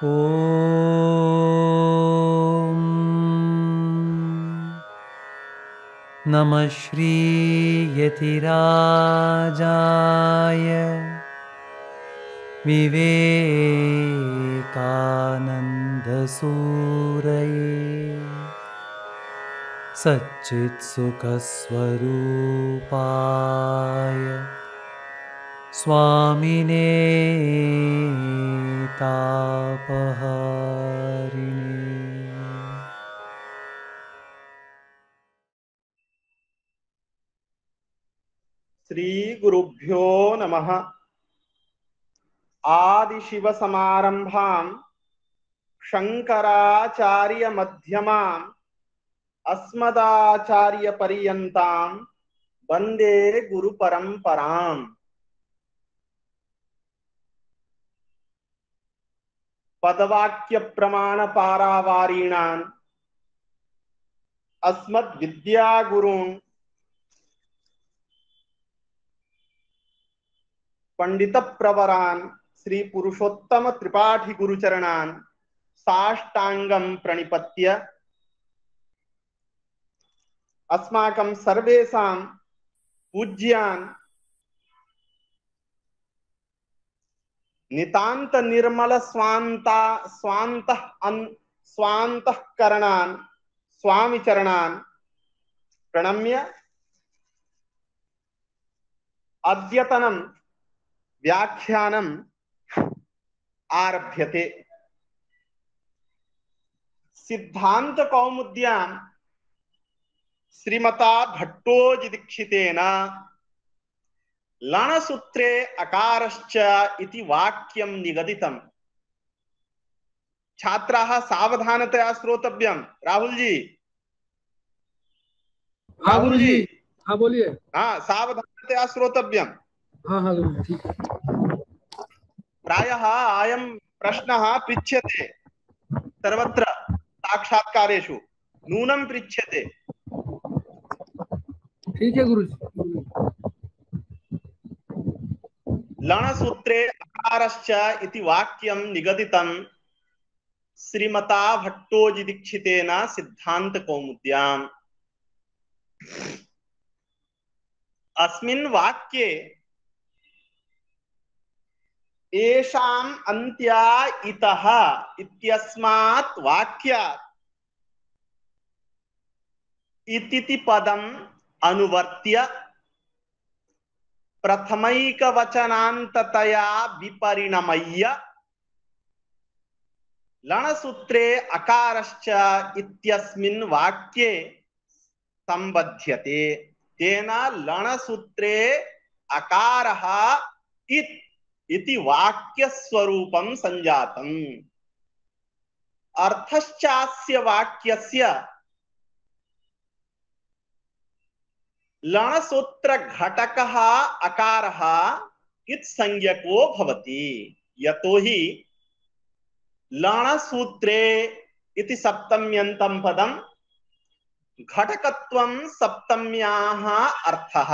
ॐ नमः श्रीयतिराजाय विवेकानन्दसूरये सच्चित्सुखस्वरूपाय स्वामिने तापहारिणे। श्री गुरुभ्यो नमः। आदिशिव समारंभां शंकराचार्य मध्यमां अस्मदाचार्य पर्यन्तां वंदे गुरु परंपराम्। पदवाक्य प्रमाण पारावारीणान् अस्मद् विद्यागुरून् पंडित प्रवरान् श्री पुरुषोत्तम त्रिपाठी गुरुचरणान् साष्टांगं प्रणिपत्य अस्माकं सर्वेषां पूज्यान् नितांत निर्मल स्वान्तःकरणान् स्वामी चरणान् प्रणम्य अद्यतनं व्याख्यानम् आरभ्यते। सिद्धांत कौमुद्यां श्रीमता भट्टोजी दीक्षितेन लणसूत्रे अकारश्च इति वाक्यं निगदितम्। छात्राः सावधानतया श्रोतव्यं। राहुल जी, हाँ गुरुजी, हाँ बोलिए। हाँ, सावधानतया श्रोतव्यं। हाँ हाँ गुरुजी, ठीक। प्रायः अयं प्रश्नः पृच्छ्यते सर्वत्र साक्षात्कारेषु, नूनं पृच्छ्यते। ठीक है गुरुजी। लणसूत्रे अकारश्च इति वाक्यं निगदितं श्रीमता भट्टोजी दीक्षितेन सिद्धांत कौमुद्याम्। अस्मिन् वाक्ये येषाम् अन्त्या इतः इत्यस्मात् वाक्यात् इति पदम् अनुवर्त्य प्रथमैकवचनान्ततया विपरिणमय्य लणसूत्रे अकारश्च इत्यस्मिन् वाक्ये संबध्यते। तेन लणसूत्रे अकारः इति वाक्यस्वरूपं संजातम्। अर्थश्चास्य वाक्यस्य लणसूत्र घटकः अकारः इत्संज्ञको भवति। यतोहि लणसूत्रे इति सप्तम्यन्तं पदं घटकत्वं सप्तम्याः अर्थः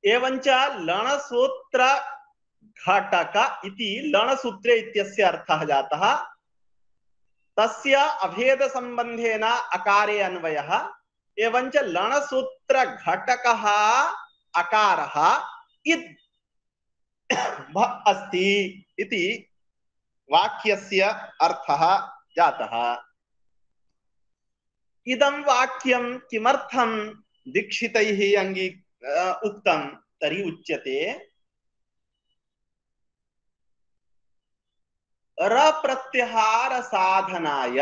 एवञ्च लणसूत्र घटक इति लणसूत्रे इत्यस्य अर्थः जातः। तस्य अभेद संबंधेन अकारे अन्वयः एवञ्च लणसूत्र घटकः अकारः इद् अस्ति इति वाक्यस्य अर्थः जातः। इदं वाक्यं किमर्थं दीक्षितैः उक्तं तर्हि उच्यते रप्रत्याहार साधनाय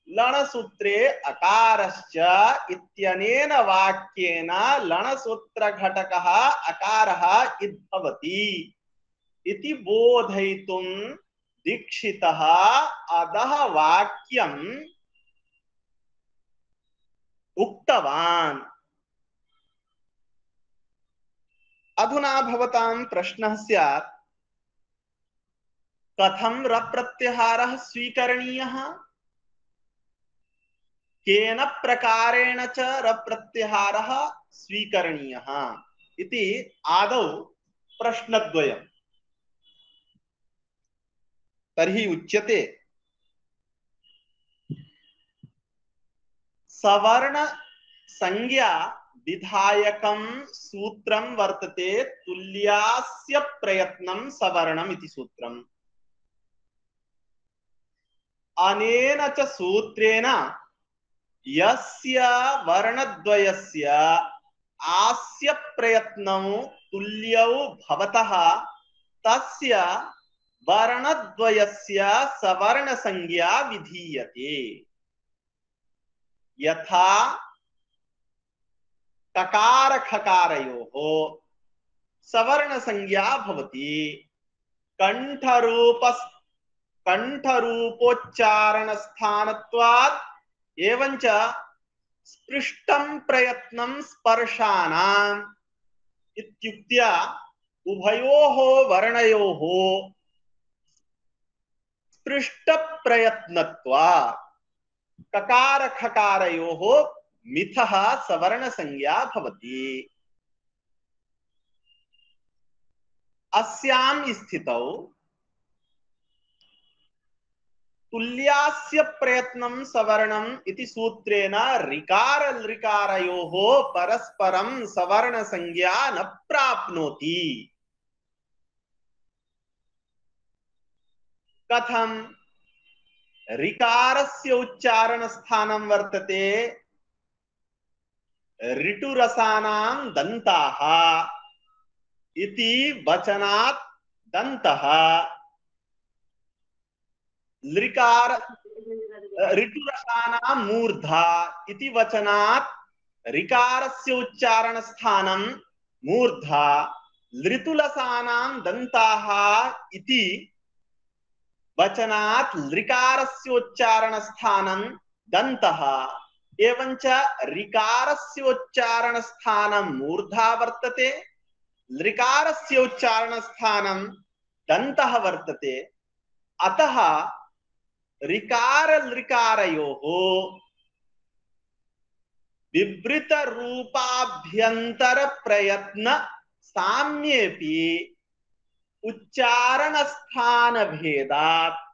लणसूत्रे अकारश्च इत्यनेन वाक्येन लणसूत्र घटकः अकारः इद्भवति इति बोधयितुं दीक्षितः अधः वाक्यम् उक्तवान्। अधुना भवतां प्रश्नः स्यात्, कथं रप्रत्याहारः स्वीकरणीयः, केन प्रकारेण च रप्रत्याहारः स्वीकरणीयः इति आदौ प्रश्नद्वयम्। तर्हि उच्यते सवर्ण संज्ञा विधायकं सूत्रं वर्तते तुल्यास्य प्रयत्नं सवर्णम् इति सूत्रम्। अनेन च सूत्रेण यस्य वर्णद्वयस्य आस्य प्रयत्नौ तुल्यौ भवतः तस्य वर्णद्वयस्य सवर्ण संज्ञा विधीयते। यथा ककार खकारयोः सवर्ण संज्ञा भवति कंठरूपोच्चारण स्थानत्वात् एवंच स्पृष्टं प्रयत्नं स्पर्शानाम् इत्युक्त्या उभयोः वर्णयोः स्पृष्ट प्रयत्नत्वात् ककार खकारयोः मिथः सवर्ण संज्ञा भवति। अस्यां स्थितौ तुल्यास्य प्रयत्नं सवर्णम् इति सूत्रेण ऋकार लृकारयोः परस्परं सवर्ण संज्ञा न प्राप्नोति। कथं? ऋकारस्य उच्चारण स्थानं वर्तते ऋटुरसानां दन्ताः इति वचनात् दन्तः, लृकार ऋटुरसानां मूर्धा इति वचनात् ऋकारस्य उच्चारण स्थानं मूर्धा, लृतुलसानां दन्ताः इति वचनात् लृकारस्य उच्चारण स्थानं दन्तः। एवंच ऋकारस्य उच्चारण स्थानं मूर्धा वर्तते, लृकारस्य उच्चारण स्थानं दन्तः वर्तते। अतः ऋकार लृकारयोः विवृत रूपाभ्यंतर प्रयत्न साम्येपि उच्चारण स्थान भेदात्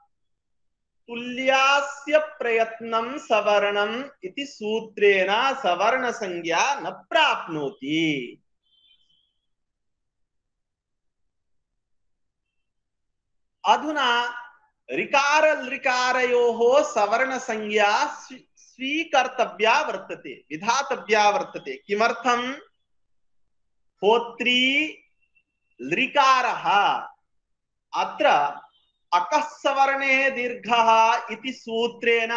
तुल्यास्य प्रयत्नं सवर्णम् इति सूत्रेण सवर्ण संज्ञा न प्राप्नोति। अधुना ऋकार लृकारयोः सवर्ण संज्ञा स्वीकर्तव्या वर्तते, विधातव्या वर्तते। किमर्थं? होत्री लृकारः अत्र अकः सवर्णे दीर्घः इति सूत्रेण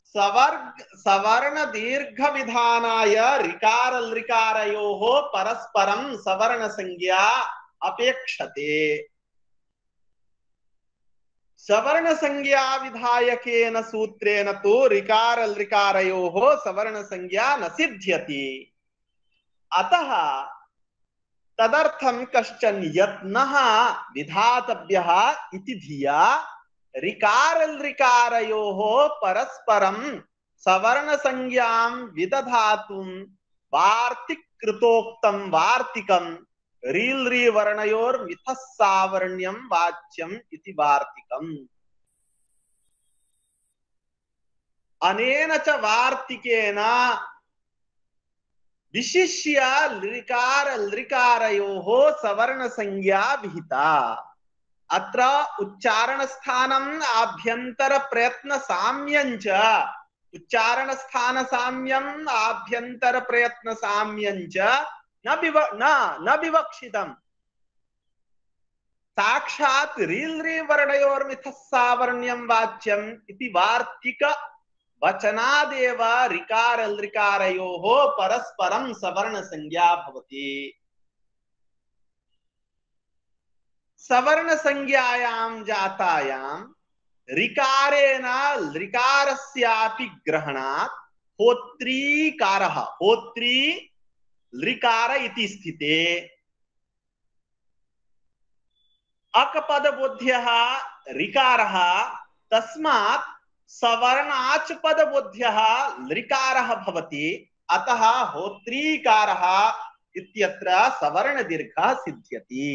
सवर्ण दीर्घ विधानाय ऋकार लृकारयोः परस्परं सवर्ण संज्ञा अपेक्षते। सवर्ण संज्ञा विधायकेन सूत्रेण तु ऋकार लृकारयोः सवर्ण संज्ञा न सिद्ध्यति। अतः तदर्थं कश्चन यत्नः विधातव्यः इति धिया ऋकार लृकारयोः परस्परं सवर्ण संज्ञां विदधातुं वार्तिकृतोक्तं वार्तिकं रील् वर्णयोर्मिथः सावर्ण्यं वाच्यम् इति वार्तिकम्। अनेन च वार्तिकेन विशिष्य लृकार लृकारयोः सवर्ण संज्ञा विहिता। अत्र उच्चारण स्थानम् आभ्यंतर प्रयत्न साम्यञ्च, उच्चारण स्थान साम्यम् आभ्यंतर प्रयत्न साम्यञ्च न विवक्षितम्। साक्षात् रील् वर्णयोर्मिथः सावर्ण्यं वाच्यम् इति वार्तिक वचनादेव ऋकार लृकारयोः परस्परं सवर्ण संज्ञा भवति। सवर्ण संज्ञायां जातायां ऋकारेण लृकारस्यापि ग्रहणात् होत्रीकारः, होत्री लृकार इति स्थिते अकपदबोध्यः ऋकारः, तस्मात् सवर्णाच पदबोध्यः लृकारः भवति। अतः होत्रीकारः इत्यत्र सवर्ण दीर्घः सिद्ध्यति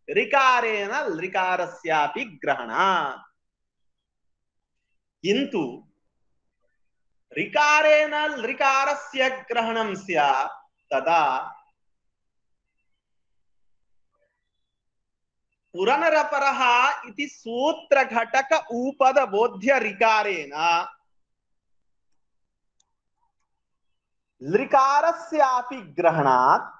ऋकारेण लृकारस्यापि ग्रहणात्। किन्तु ऋकारेण लृकारस्य ग्रहणं स्यात् तदा पुरनरपरः इति सूत्रघटक उपदबोध्य ऋकारेण लृकारस्यापि ग्रहणात्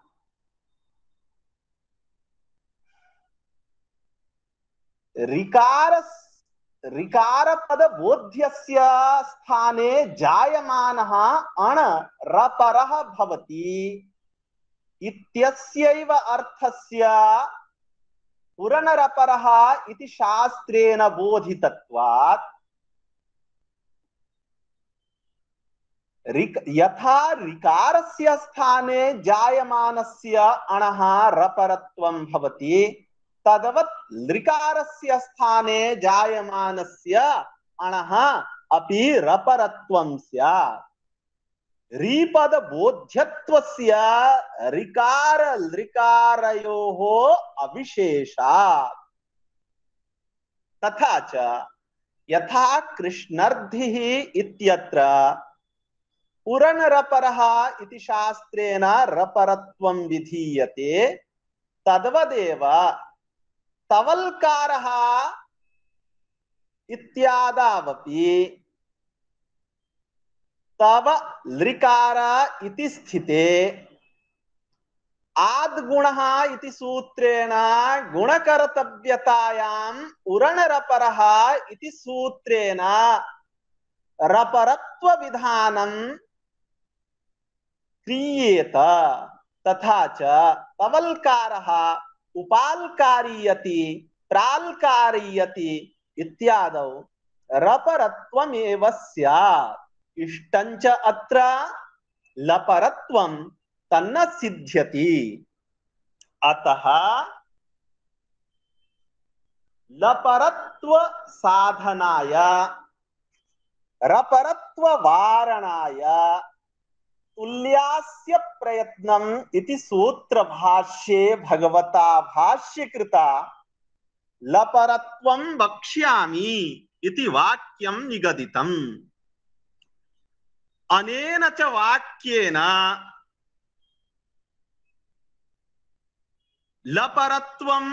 ऋकारपदबोध्यस्य स्थाने जायमानः अण रपरः भवति इत्यस्यैव अर्थस्य पुरनरपरः इति शास्त्रेण बोधितत्वात् यथा ऋकारस्य स्थाने जायमानस्य अणः रपरत्वं भवति तदवत् लृकारस्य स्थाने जायमानस्य अणः अपि रपरत्वं स्यात्। रीपद बोध्यत्वस्य ऋकार लृकारयोः अविशेषात्। तथा च यथा कृष्णर्धिः इत्यत्र पुरनरपरः इति शास्त्रेण रपरत्वं विधीयते तद्वदेव तवल्कारः इत्यादावपि तव लृकार इति स्थिते आद्गुणः इति सूत्रेण गुणकर्तव्यतायाम् उरणरपरः इति सूत्रेण रपरत्व विधानं क्रियेत। तथा च तवल्कारः उपाल्कारीयति प्राल्कारीयति इत्यादौ रपरत्वमेव स्यात्। इष्टञ्च अत्र लपरत्वं तन्न सिद्ध्यति। अतः लपरत्व साधनाय रपरत्व वारणाय तुल्यास्य प्रयत्नम् इति सूत्र भाष्ये भगवता भाष्यकृता लपरत्वं वक्ष्यामि इति वाक्यं निगदितम्। अनेन च वाक्येन लपरत्वं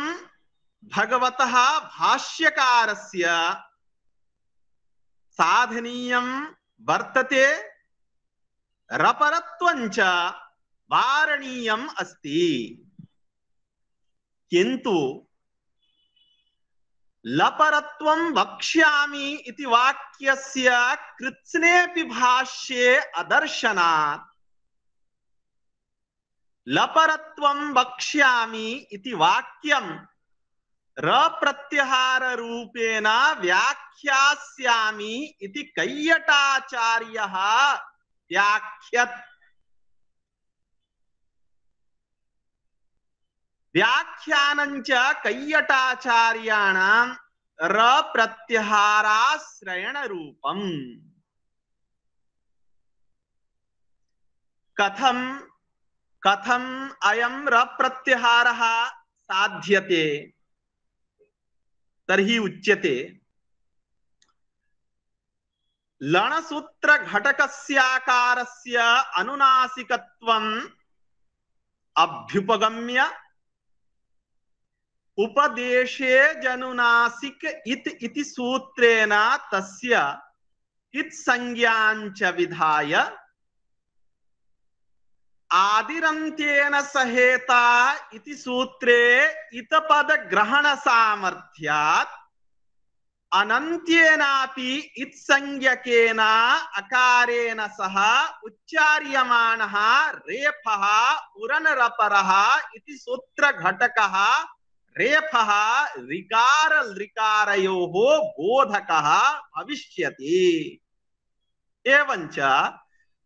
भगवतः भाष्यकारस्य साधनीयं वर्तते रपरत्वञ्च वारणीयम् अस्ति। किन्तु लपरत्वं वक्ष्यामि इति वाक्यस्य कृत्स्नेऽपि भाष्ये अदर्शनात् लपरत्वं वक्ष्यामि इति वाक्यं रप्रत्यहार रूपेण व्याख्यास्यामि इति कैयटाचार्यः व्याख्यत्। व्याख्यानञ्च कैयटाचार्याणां रप्रत्यहाराश्रयण रूपम्। कथम् अयं रप्रत्यहारः साध्यते तर्हि उच्यते लणसूत्र घटकस्याकारस्य अनुनासिकत्वम् अभ्युपगम्य उपदेशे जनुनासिक इति सूत्रेण तस्य इत् संज्ञाञ्च विधाय आदिरन्त्येन सहेता इति सूत्रे इतपद ग्रहण सामर्थ्यात् अनन्त्येनापि इत्संज्ञकेन अकारेण सह उच्चार्यमाणः रेफः उरनरपरः इति सूत्रघटकः रेफः ऋकार लृकारयोः बोधकः भविष्यति। एवञ्च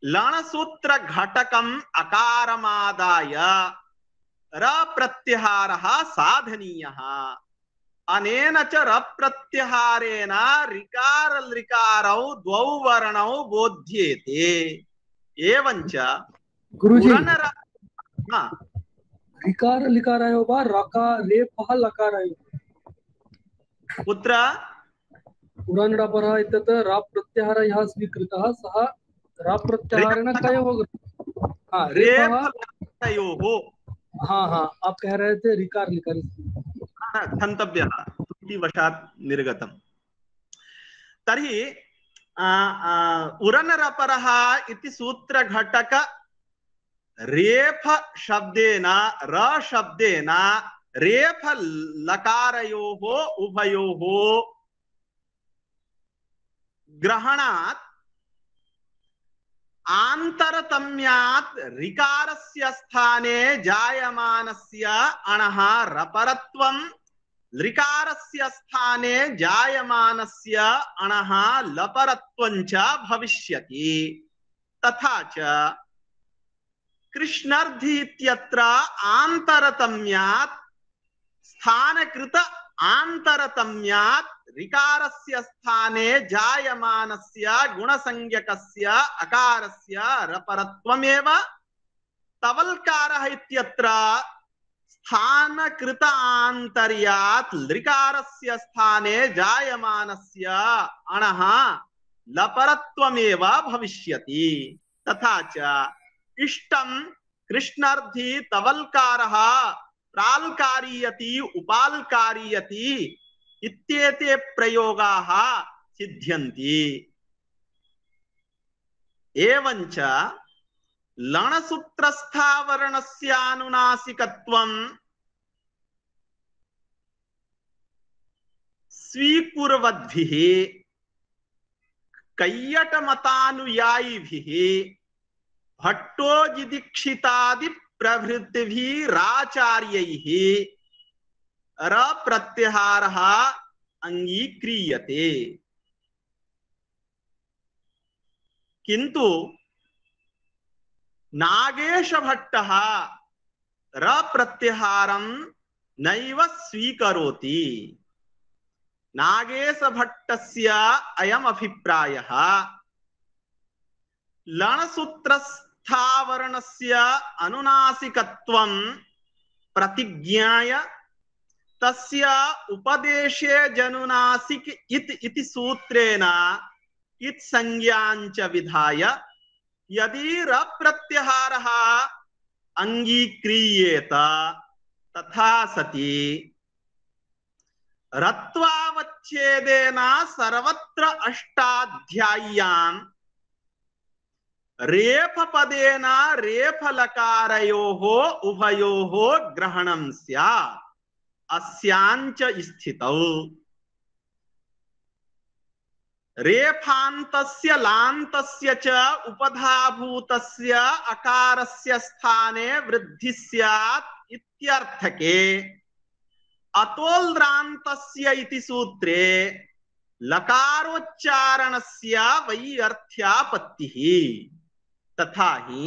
लणसूत्र घटकम् अकारमादाय रप्रत्यहारः साधनीयः। अनेन च रप्रत्यहारेण ऋकार लृकारौ द्वौ वर्णौ बोध्येते। एवञ्च गुरुजी हाँ ऋकार लिकारायो वा रकार रेफः लकारायो कुत्र पुराणपरः इत्यत्र राप् प्रत्याहारः यः स्वीकृतः सः राप् प्रत्याहारेण रेफ कयोः हाँ रेफः। रेफलकारयोः हाँ हाँ आप कह रहे थे ऋकार लिकार क्षन्तव्यः त्रुटिवशात् निर्गतम्। तर्हि उरनरपरः इति सूत्रघटक रेफ शब्देन र शब्देन रेफ लकारयोः उभयोः ग्रहणात् आन्तरतम्यात् ऋकारस्य स्थाने जायमानस्य अणः रपरत्वं ऋकारस्य स्थाने जायमानस्य अणः लपरत्वं च भविष्यति। तथा च कृष्णर्धि इत्यत्र आन्तरतम्यात् स्थानकृत आन्तरतम्यात् ऋकारस्य स्थाने जायमानस्य गुणसंज्ञकस्य अकारस्य रपरत्वमेव तवल्कारः इत्यत्र स्थानकृत आन्तर्यात् लृकारस्य स्थाने जायमानस्य अणः लपरत्वमेव भविष्यति। तथा च इष्टं कृष्णार्थी तवल्कारः प्राल्कारीयति उपाल्कारीयति इत्येते प्रयोगाः सिद्ध्यन्ति। एवञ्च लणसूत्रस्थावरणस्य अनुनासिकत्वं स्वीकुर्वद्भिः कैयटमतानुयायिभिः भट्टोजिदीक्षितादि प्रभृतिभिराचार्यैः रप्रत्याहारः अंगीक्रियते। किन्तु नागेश भट्टः रप्रत्याहारं नैव स्वीकरोति। नागेश भट्टस्य अयम् अभिप्रायः लणसूत्रस्थावरणस्य अनुनासिकत्वं प्रतिज्ञाय तस्य उपदेशे जनुनासिक इति सूत्रेण इत् संज्ञाञ्च विधाय यदि रप्रत्याहारः अंगीक्रियेत तथा सति रत्वावच्छेदेन सर्वत्र अष्टाध्याय्यां रेफपदेन रेफलकारयोः उभयोः ग्रहणं स्यात्। अस्याञ्च स्थितौ रेफान्तस्य लान्तस्य च उपधाभूतस्य अकारस्य स्थाने वृद्धि स्यात् इत्यर्थके अतोल्रान्तस्य इति सूत्रे लकारोच्चारणस्य वैयर्थ्यापत्तिः। तथा हि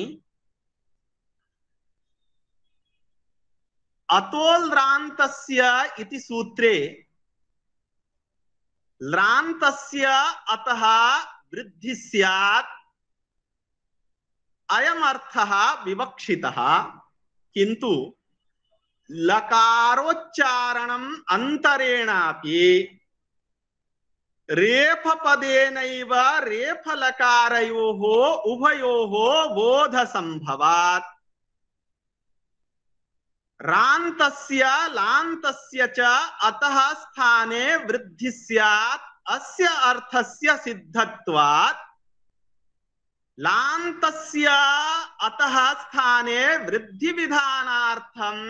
अतोल्रान्तस्य इति सूत्रे लान्तस्य अतः वृद्धि स्यात् अयम् अर्थः विवक्षितः। किन्तु लकारोच्चारणम् अन्तरेणापि रेफपदेनैव रेफलकारयोः उभयोः बोधसम्भवात् रान्तस्य लान्तस्य च अतः स्थाने वृद्धि स्यात्। अस्य अर्थस्य सिद्धत्वात् लान्तस्य अतः स्थाने वृद्धि विधानार्थम्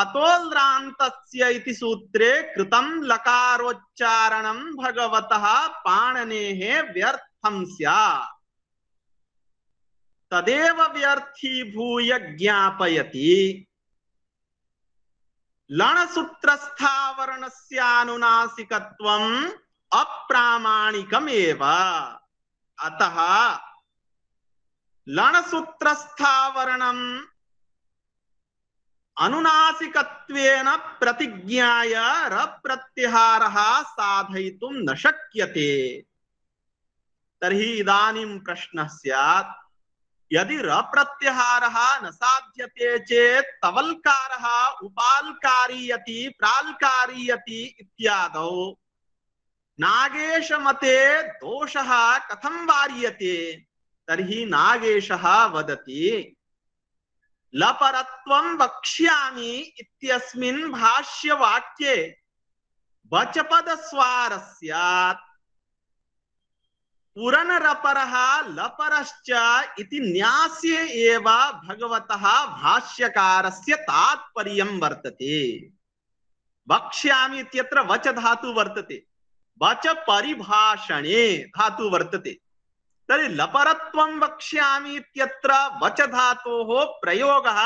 अतोल्रान्तस्य इति सूत्रे कृतं लकारोच्चारणं भगवतः पाणिनेः व्यर्थं स्यात्। तदेव व्यर्थीभूय ज्ञापयति लणसूत्रस्थावरणस्यानुनासिकत्वम् अप्रामाणिकमेव। अतः लणसूत्रस्थावरणम् अनुनासिकत्वेन प्रतिज्ञाय रप्रत्याहारः साधयितुं न शक्यते। तर्हि इदानीं प्रश्नः स्यात् यदि र प्रत्याहारः न साध्यते चेत् तवल्कारः उपाल्कारीयति प्राल्कारीयति इत्यादौ नागेश मते दोषः कथं वार्यते? तर्हि नागेशः वदति लपरत्वं वक्ष्यामि इत्यस्मिन् भाष्यवाक्ये वचपदस्वारस्यात् पुरनरपरः लपरश्च इति न्यास्ये एव भगवतः भाष्यकारस्य तात्पर्यं वर्तते। वक्ष्यामि इत्यत्र वच धातु वर्तते, वच परिभाषणे धातु वर्तते। तर्हि लपरत्वं वक्ष्यामि इत्यत्र वच धातोः प्रयोगः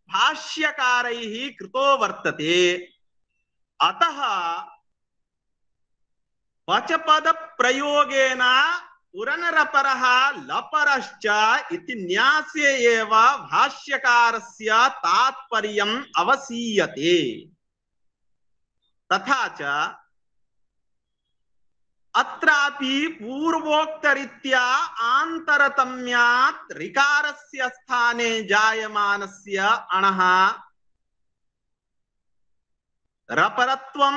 भाष्यकारैः कृतो वर्तते। अतः वचपद प्रयोगेन पुरनरपरः लपरश्च इति न्यास्ये एव भाष्यकारस्य तात्पर्यम् अवसीयते। तथा च अत्रापि पूर्वोक्तरीत्या आन्तरतम्यात् ऋकारस्य स्थाने जायमानस्य अणः रपरत्वं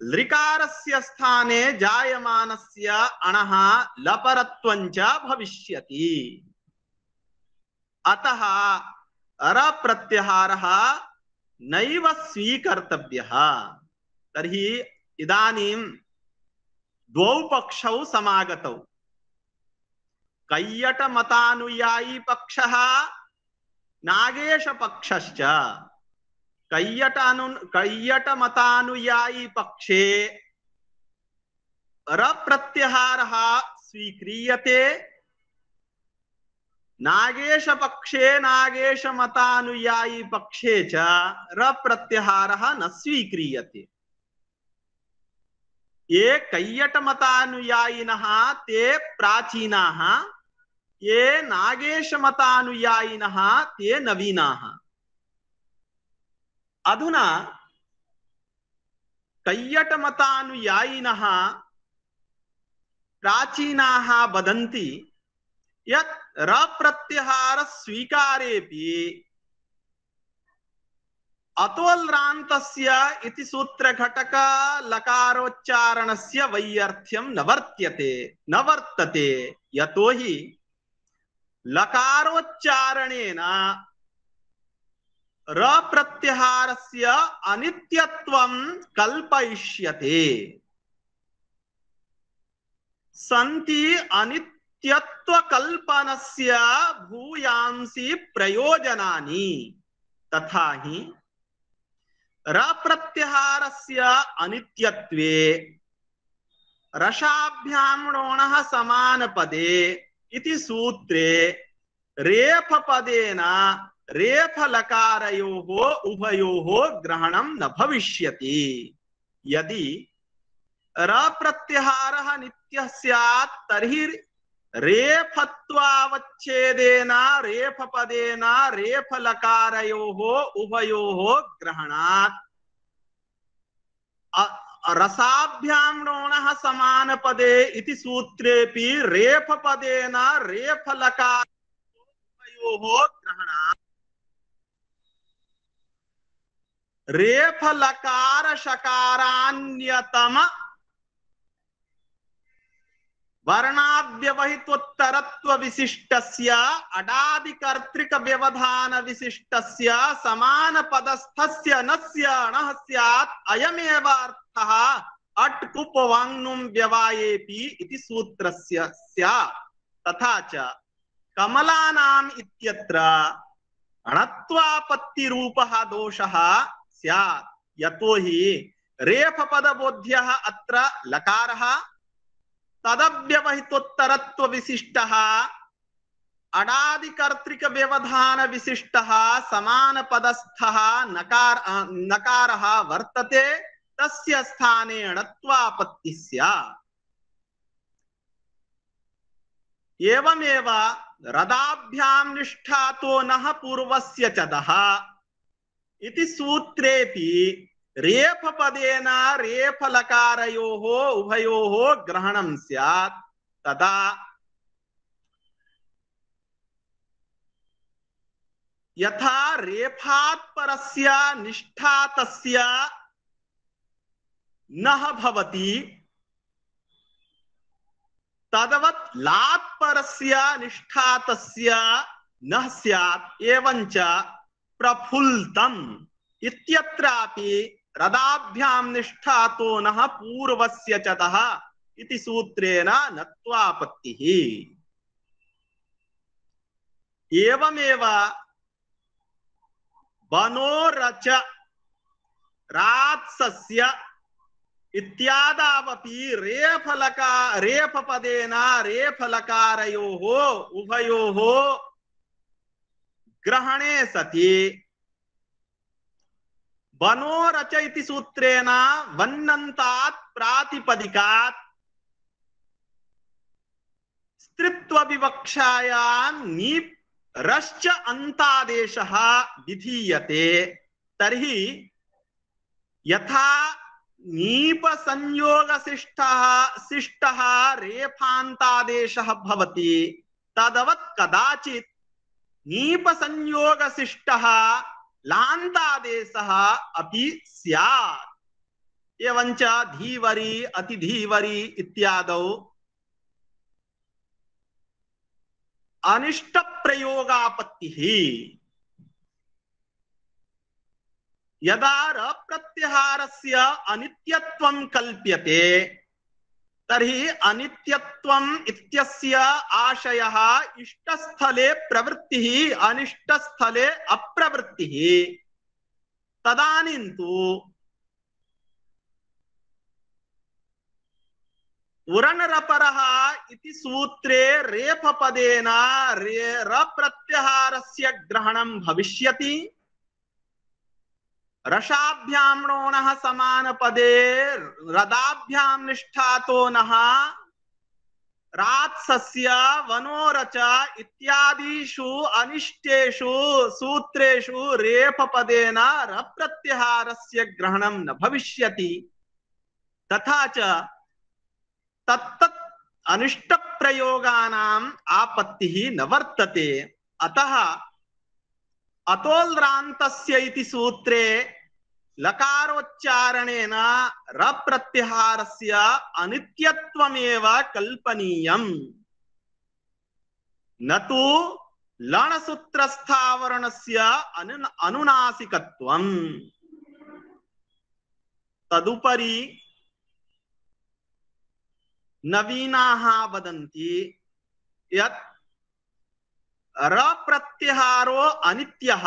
लृकारस्य स्थाने जायमानस्य अणः लपरत्वं च भविष्यति। अतः रप्रत्याहारः नैव स्वीकर्तव्यः। तर्हि इदानीं द्वौ पक्षौ समागतौ, कैयटमतानुयायी पक्षः नागेश पक्षश्च। कैयटमतानुयायी पक्षे रप्रत्याहारः स्वीक्रियते, नागेश पक्षे नागेशमतानुयायी पक्षे च रप्रत्याहारः न स्वीक्रियते। ये कैयटमतानुयायिनः ते प्राचीनाः, ये नागेशमतानुयायिनः ते नवीनाः। अधुना कैयटमतानुयायिनः प्राचीनाः वदन्ति यत् रप्रत्याहार स्वीकारेपि अतोल्रान्तस्य इति सूत्रघटक लकारोच्चारणस्य वैयर्थ्यं न वर्तते। यतोहि लकारोच्चारणेन रप्रत्याहारस्य अनित्यत्वं कल्पयिष्यते। सन्ति अनित्यत्वकल्पनस्य भूयांसि प्रयोजनानि। तथा हि रप्रत्याहारस्य अनित्यत्वे रसाभ्यां णोणः समानपदे इति सूत्रे रेफपदेन रेफलकारयोः उभयोः ग्रहणं न भविष्यति। यदि रप्रत्याहारः नित्यः स्यात् तर्हि रेफत्वावच्छेदेन रेफपदेन रेफलकारयोः उभयोः ग्रहणात् रसाभ्यां णोणः समानपदे इति सूत्रेपि रेफपदेन रेफलकारयोः ग्रहणात् रेफलकार शकारान्यतम वर्णाद्यवहितोत्तरत्व विशिष्टस्य अडादिकर्तृक व्यवधान विशिष्टस्य समान पदस्थस्य नस्य अणः स्यात् अयमेव अर्थः अट्कुपवाङ्नुं व्यवायेपि इति सूत्रस्य स्यात्। तथा च कमलानाम् इत्यत्र अणत्वापत्तिरूपः दोषः स्यात्। यतोहि रेफपदबोध्यः अत्र लकारः, तदव्यवहितोत्तरत्व विशिष्टः अडादिकर्तृक व्यवधान विशिष्टः समान पदस्थः नकारः वर्तते, तस्य स्थाने अणत्वापत्ति स्यात्। एवमेव रदाभ्यां निष्ठातो नः पूर्वस्य च दः इति सूत्रेपि रेफपदेन रेफलकारयोः उभयोः ग्रहणं स्यात्। तदा यथा रेफात् परस्य निष्ठा तस्य नः भवति तदवत् लात् परस्य निष्ठा तस्य नः स्यात् एवञ्च प्रफुल्लम् इत्यत्रापि रदाभ्यां निष्ठातो नः पूर्वस्य च तः इति सूत्रेण नत्वापत्तिः। एवमेव वनोरच रात्सस्य इत्यादावपि रेफपदेन रेफलकारयोः उभयोः ग्रहणे सति वनोरच इति सूत्रेण वन्नन्तात् प्रातिपदिकात् स्त्रीत्व विवक्षायां नीप् रश्च अन्तादेशः विधीयते। तर्हि यथा नीप संयोग शिष्टः रेफान्तादेशः भवति तदवत् कदाचित् नीप संयोग शिष्टः लान्तादेशः अपि स्यात्। एवञ्च धीवरी अतिधीवरी इत्यादौ अनिष्ट प्रयोगापत्तिः। यदा रप्रत्याहारस्य अनित्यत्वं कल्प्यते तर्हि अनित्यत्वम् इत्यस्य आशयः इष्टस्थले प्रवृत्तिः अनिष्टस्थले अप्रवृत्तिः। तदानीं तु उरनरपरः इति सूत्रे रेफपदेन रप्रत्याहारस्य ग्रहणं भविष्यति। रसाभ्यां णोणः समानपदे रदाभ्यां निष्ठातो नः रात्सस्य वनोरच इत्यादिषु अनिष्टेषु सूत्रेषु रेफपदेन रप्रत्याहारस्य ग्रहणं न भविष्यति। तथा च तत्तत् अनिष्ट प्रयोगानाम् आपत्तिः न वर्तते। अतः अतोल्रान्तस्य इति सूत्रे लकारोच्चारणेन रप्रत्याहारस्य अनित्यत्वमेव कल्पनीयम्, न तु लणसूत्रस्थावरणस्य अनुनासिकत्वम्। तदुपरि नवीनाः वदन्ति यत् रप्रत्याहारो अनित्यः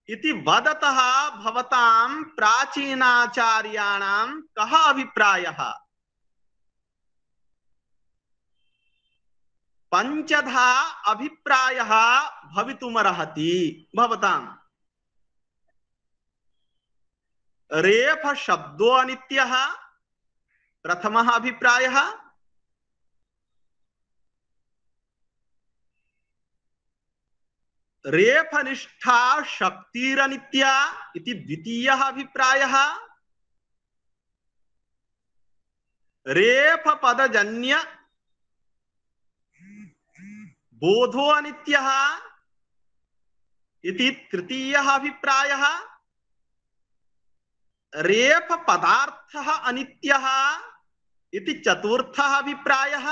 इति वदतः भवतां प्राचीनाचार्याणां कः अभिप्रायः? पञ्चधा अभिप्रायः भवितुमर्हति भवताम्। रेफ शब्दो अनित्यः प्रथमः अभिप्रायः। रेफनिष्ठा शक्तिरनित्या इति द्वितीयः अभिप्रायः। रेफपदजन्य बोधो अनित्यः इति तृतीयः अभिप्रायः। रेफपदार्थः अनित्यः इति चतुर्थः अभिप्रायः।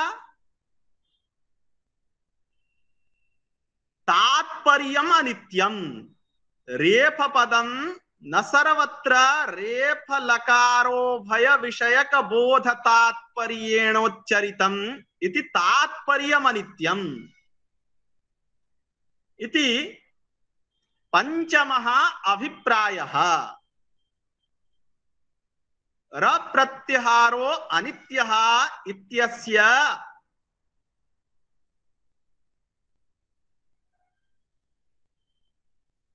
तात्पर्यम् अनित्यम्, रेफपदं न सर्वत्र रेफलकारोभय विषयक बोध तात्पर्येणोच्चरितम् इति तात्पर्यम् अनित्यम् इति पंचमः अभिप्रायः। रप्रत्याहारो अनित्यः इत्यस्य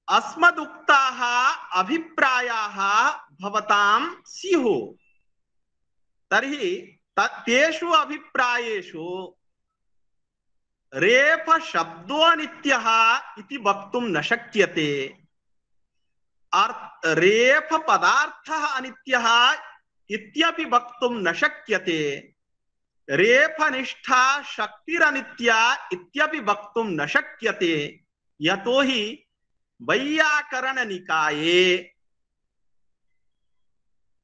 अस्मदुक्ताः अभिप्रायाः भवतां स्युः। तर्हि तेषु अभिप्रायेषु रेफ शब्दो अनित्यः इति वक्तुं न शक्यते। रेफ पदार्थः अनित्यः इत्यपि वक्तुं न शक्यते। रेफनिष्ठा शक्तिरनित्या इत्यपि वक्तुं न शक्यते। यतो हि वैयाकरण निकाये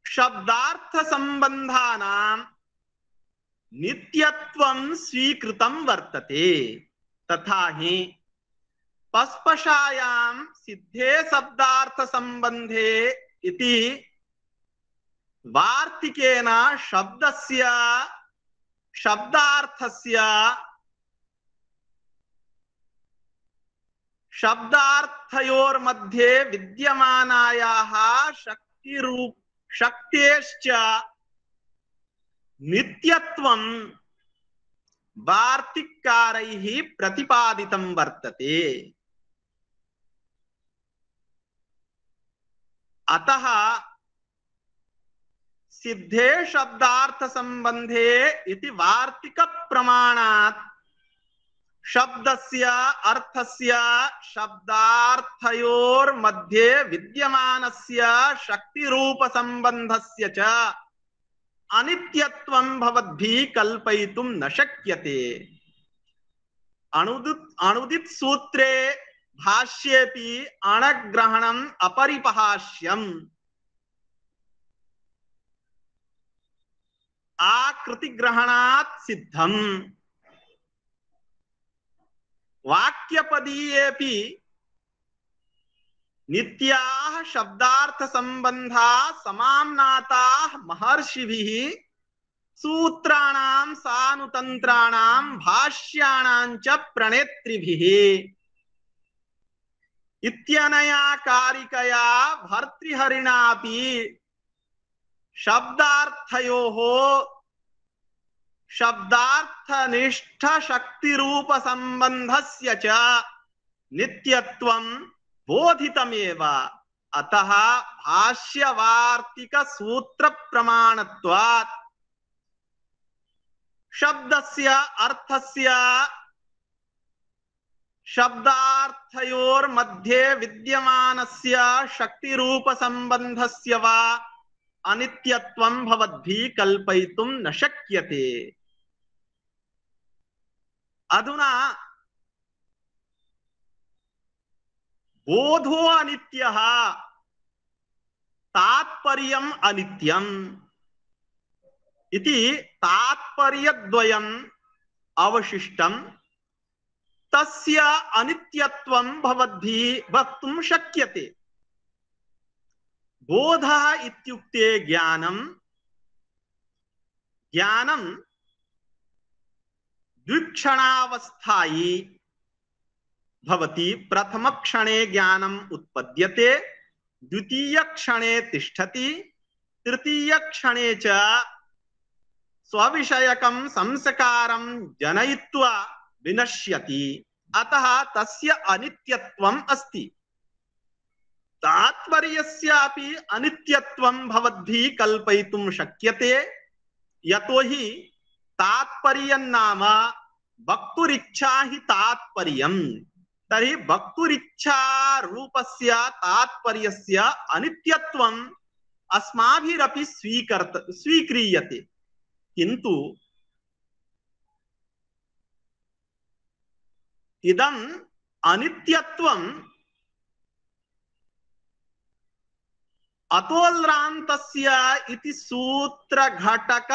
शब्दार्थ संबंधानां नित्यत्वं स्वीकृतं वर्तते, तथा हि पस्पशायां सिद्धे शब्दार्थ संबंधे इति वार्तिकेन शब्दस्य शब्दार्थस्य शब्दार्थयोर्मध्ये विद्यमानायाः शक्तेश्च नित्यत्वं वार्तिककारैः प्रतिपादितं वर्तते। अतः सिद्धे शब्दार्थ संबंधे इति वार्तिक प्रमाणात् शब्दस्य अर्थस्य शब्दार्थयोर्मध्ये विद्यमानस्य शक्तिरूप संबंधस्य च अनित्यत्वं भवद्भिः कल्पयितुं न शक्यते। अणुदित सूत्रे भाष्येपि अणग्रहणम् अपरिपहास्यम् आकृतिग्रहणात् सिद्धम्। वाक्यपदीयेपि नित्याः शब्दार्थ संबंधाः समाम्नाताः महर्षिभिः सूत्राणां सानुतन्त्राणां भाष्याणां च प्रणेत्रिभिः इत्यनया कारिकया भर्तृहरिणापि शब्दार्थयोः शब्दार्थनिष्ठ शक्तिरूप संबंधस्य च नित्यत्वं बोधितमेव। अतः भाष्यवार्तिक सूत्र प्रमाणत्वात् शब्दस्य अर्थस्य शब्दार्थयोर्मध्ये विद्यमानस्य शक्तिरूप संबंधस्य वा अनित्यत्वं भवद्भिः कल्पयितुं न शक्यते। अधुना बोधो अनित्यः तात्पर्यम् अनित्यम् इति तात्पर्यद्वयम् अवशिष्टम्। तस्य अनित्यत्वं भवद्भिः वक्तुं शक्यते। बोधः इत्युक्ते ज्ञानम्। ज्ञानम् द्विक्षणावस्थायी भवति। प्रथम क्षणे ज्ञानम् उत्पद्यते, द्वितीय क्षणे तिष्ठति, तृतीय क्षणे च स्वविषयकं संस्कारं जनयित्वा विनश्यति। अतः तस्य अनित्यत्वम् अस्ति। तात्पर्यस्यापि अनित्यत्वं भवद्भिः कल्पयितुं शक्यते। यतो हि तात्पर्यं नाम वक्तुरिच्छा हि तात्पर्यम्। तर्हि वक्तुरिच्छा रूपस्य तात्पर्यस्य अनित्यत्वम् अस्माभिरपि स्वीक्रियते। किन्तु इदम् अनित्यत्वम् अतोल्रान्तस्य इति सूत्रघटक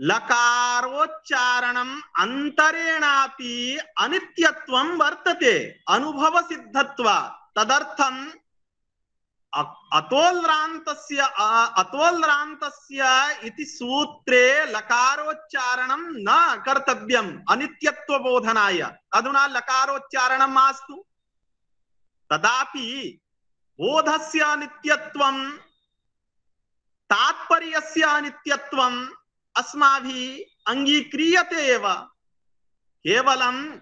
लकारोच्चारणम् अंतरेणापि अनित्यत्वं वर्तते अनुभव सिद्धत्वात्। तदर्थम् अतोल्रान्तस्य इति सूत्रे लकारोच्चारणं न कर्तव्यम् अनित्यत्व बोधनाय। अधुना लकारोच्चारणं मास्तु, तदापि बोधस्य अनित्यत्वं तात्पर्यस्य अनित्यत्वम् अस्माभिः अंगीक्रियते एव। केवलम्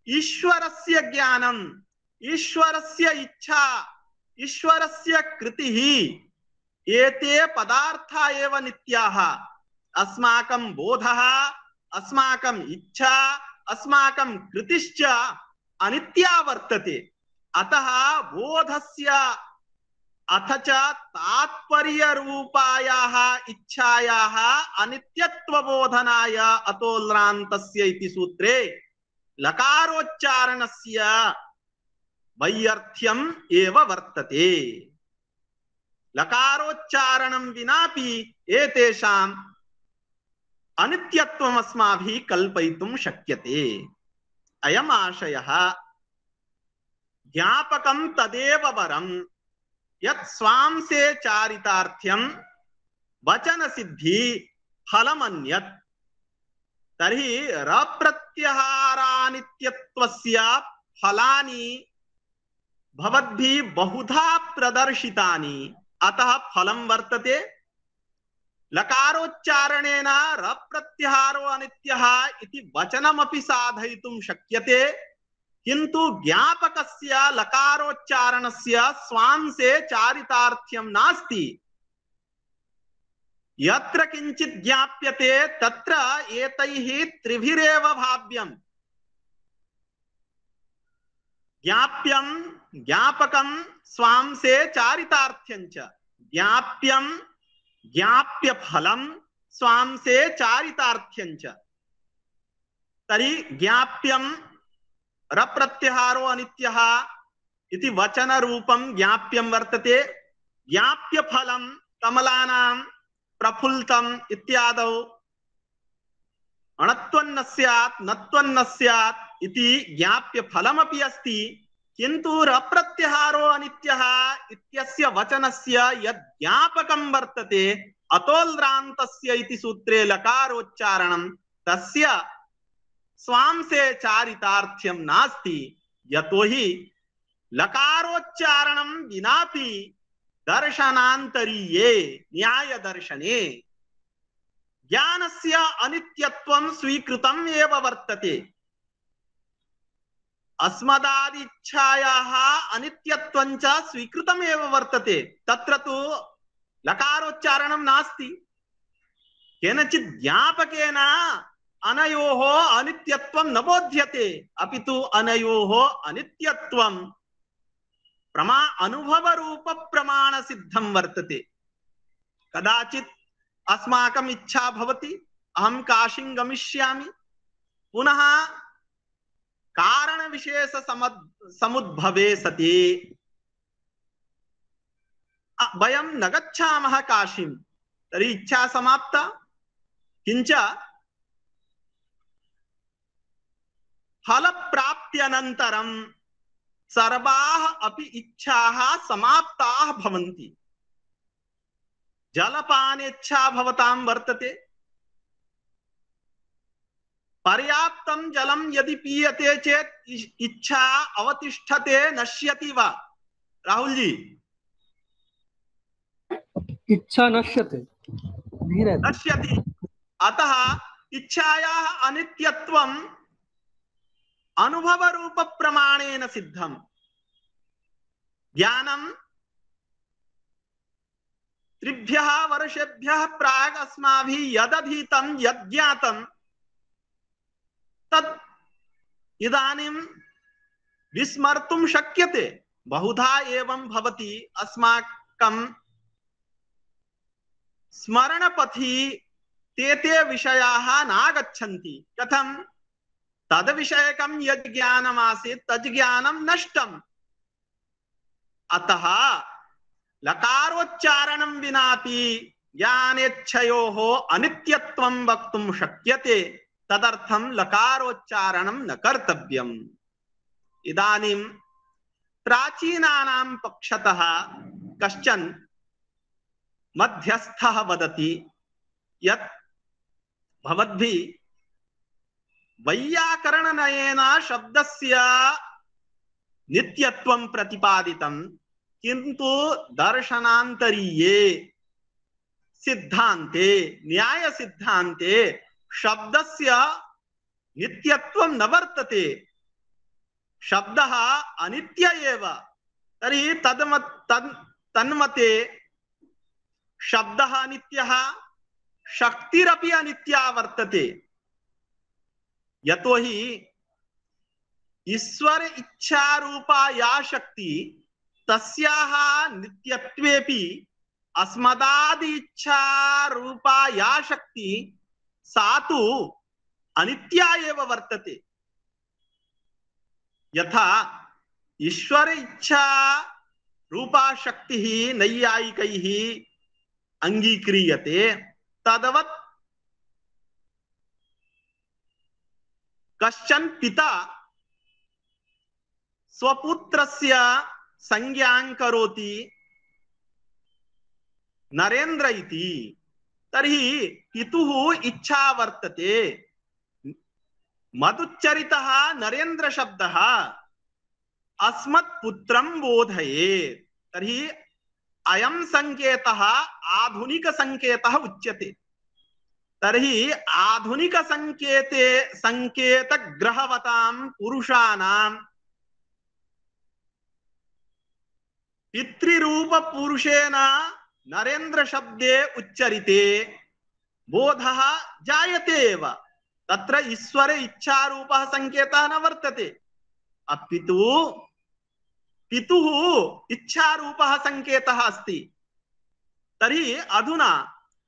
ईश्वरस्य ज्ञानम्, ईश्वरस्य इच्छा, ईश्वरस्य कृतिः, एते पदार्था एव नित्याः। अस्माकं बोधः, अस्माकं इच्छा, अस्माकं कृतिश्च अनित्या वर्तते। अतः बोधस्य अथ च तात्पर्यरूपायाः इच्छायाः अनित्यत्वबोधनाय अतोल्रान्तस्य इति सूत्रे लकारोच्चारणस्य वैयर्थ्यम् एव वर्तते। लकारोच्चारणं विनापि एतेषाम् अनित्यत्वम् अस्माभिः कल्पयितुं शक्यते। अयम् आशयः। ज्ञापकं तदेव वरं यत् स्वांसे चारितार्थ्यं वचन सिद्धि फलमन्यत्। तर्हि रप्रत्यहारानित्यत्वस्य फलानि भवद्भिः बहुधा प्रदर्शितानि, अतः फलं वर्तते। लकारोच्चारणेन रप्रत्यहारो अनित्यः इति वचनमपि साधयितुं शक्यते, किन्तु ज्ञापकस्य लकारोच्चारणस्य स्वांसे चारितार्थ्यं नास्ति। यत्र किंचित् ज्ञाप्यते तत्र एतैः त्रिभिरेव भाव्यम्। ज्ञाप्यं, ज्ञापकं, स्वांसे चारितार्थ्यञ्च। ज्ञाप्यं, ज्ञाप्य फलं, स्वांसे चारितार्थ्यञ्च। तर्हि ज्ञाप्यं रप्रत्यहारो अनित्यः इति वचन रूपं ज्ञाप्यं वर्तते। ज्ञाप्य फलं कमलानां प्रफुल्लतम् इत्यादौ अणत्वन्न स्यात् नत्वन्न स्यात् इति ज्ञाप्य फलमपि अस्ति, किन्तु रप्रत्यहारो अनित्यः इत्यस्य वचनस्य यद् ज्ञापकं वर्तते अतोल्रान्तस्य इति सूत्रे लकारोच्चारणं, तस्य स्वांसे चारितार्थ्यं नास्ति। यतोहि लकारोच्चारणं विनापि दर्शनान्तरीये न्याय दर्शने ज्ञानस्य अनित्यत्वं स्वीकृतम् एव वर्तते। अस्मदादिच्छायाः अनित्यत्वं च स्वीकृतम् एव वर्तते। तत्र तु लकारोच्चारणं नास्ति। केनचित् ज्ञापकेन अनयोः अनित्यत्वं न बोध्यते, अपि तु अनयोः अनित्यत्वं अनुभव रूप प्रमाण सिद्धं वर्तते। कदाचित् अस्माकम् इच्छा भवति अहं काशीं गमिष्यामि, पुनः कारण विशेष समुद्भवे सति वयं न गच्छामः काशीं, तर्हि इच्छा समाप्ता। किंच फलप्राप्त्यनन्तरं सर्वाः अपि इच्छाः समाप्ताः भवन्ति। जलपानेच्छा भवतां वर्तते, पर्याप्तं जलं यदि पीयते चेत् इच्छा अवतिष्ठते, नश्यति वा? राहुल जी, इच्छा नश्यते, नश्यति। अतः इच्छायाः अनित्यत्वम् अनुभव रूप प्रमाणेन सिद्धं। ज्ञानं त्रिभ्यः वर्षेभ्यः प्राक् अस्माभिः यदधीतं यज्ञातं तत् इदानीं विस्मर्तुं शक्यते। बहुधा एवं भवति, अस्माकं स्मरणपथि ते विषयाः नागच्छन्ति। कथं? तद विषयकं यद् ज्ञानमासीत् तद् ज्ञानं नष्टम्। अतः लकारोच्चारणं विनापि ज्ञानेच्छयोः अनित्यत्वं वक्तुं शक्यते। तदर्थं लकारोच्चारणं न कर्तव्यम्। इदानीं प्राचीनानां पक्षतः कश्चन मध्यस्थः वदति यत् भवद्भिः वैयाकरणनयेन शब्दस्य नित्यत्वं प्रतिपादितं, किन्तु दर्शनान्तरीये सिद्धान्ते न्याय सिद्धान्ते शब्दस्य नित्यत्वं न वर्तते। शब्दः अनित्य एव। तर्हि तन्मते शब्दः अनित्यः, शक्तिरपि अनित्या वर्तते। यतोहि ईश्वर इच्छा रूपा या शक्ति तस्याः नित्यत्वेपि अस्मदादि इच्छा रूपा या शक्ति सा तु अनित्या एव वर्तते। यथा ईश्वर इच्छा रूपा शक्तिः नैयायिकैः अंगीक्रियते तदवत् कश्चन पिता स्वपुत्रस्य संज्ञां करोति नरेन्द्र इति, तर्हि पितुः इच्छा वर्तते मदुच्चरितः नरेन्द्र शब्दः अस्मत् पुत्रं बोधयेत्, तर्हि अयं संकेतः आधुनिक संकेतः उच्यते। तर्हि आधुनिक संकेते संकेत ग्रहवतां पुरुषाणां पितृरूप पुरुषेण नरेन्द्र शब्दे उच्चरिते बोधः जायते एव, तत्र ईश्वर इच्छा रूपः संकेतः न वर्तते, अपितु पितुः इच्छा रूपः संकेतः अस्ति। तर्हि अधुना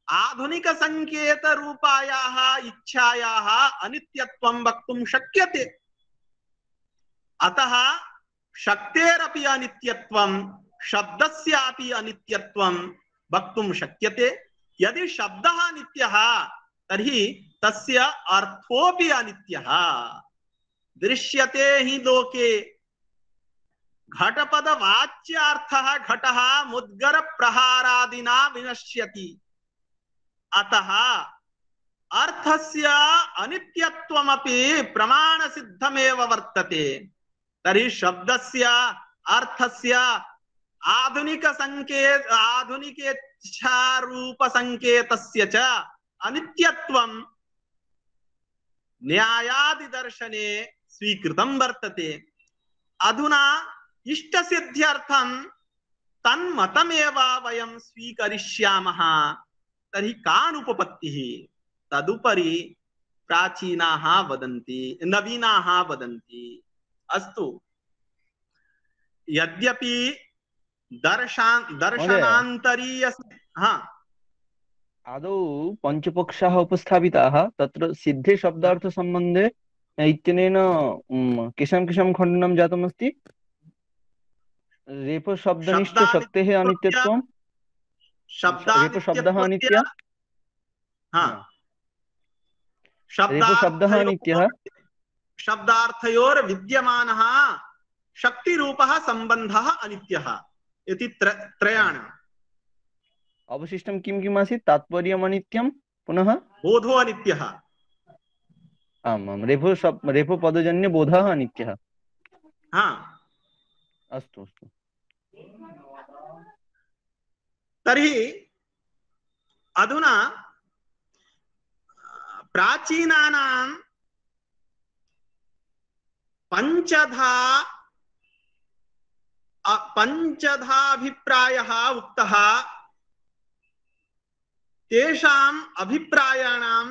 आधुनिक संकेत रूपायाः इच्छायाः अनित्यत्वं वक्तुं शक्यते। अतः शक्तेरपि अनित्यत्वं शब्दस्यापि अनित्यत्वं वक्तुं शक्यते। यदि शब्दः नित्यः तर्हि तस्य अर्थोऽपि अनित्यः। दृश्यते हि लोके घटपदवाच्यार्थः घटः मुद्गर प्रहारादिना विनश्यति, अतः अर्थस्य अनित्यत्वमपि प्रमाण सिद्धमेव वर्तते। तर्हि शब्दस्य अर्थस्य आधुनिक संकेत आधुनिकेच्छा रूप संकेतस्य च अनित्यत्वं न्यायादि दर्शने स्वीकृतं वर्तते। अधुना इष्ट सिद्ध्यर्थं तन्मतमेव वयं स्वीकरिष्यामः, तर्हि कानुपपत्तिः? तदुपरि प्राचीनाः वदन्ति, नवीनाः वदन्ति। अस्तु, यद्यपि दर्शनान्तरीय आदौ पञ्चपक्षाः उपस्थापिताः, तत्र सिद्धे शब्दार्थ सम्बन्धे इत्यनेन केषां खण्डनं जातमस्ति? रेफ शब्दनिष्ठ शक्तेः अनित्यत्वं, रेफ शब्दः अनित्यः, रेफ शब्दः अनित्यः, शब्दार्थयोर विद्यमानः शक्तिरूपः सम्बन्धः अनित्यः इति त्रयाणाम्। अवशिष्टं किं किम् आसीत्? तात्पर्यम् अनित्यं, पुनः बोधो अनित्यः। आम्, रेफो पदजन्य बोधः अनित्यः। अस्तु अस्तु। तर्हि अधुना प्राचीनानां पंचधाभिप्रायः उक्तः, तेषाम् अभिप्रायाणां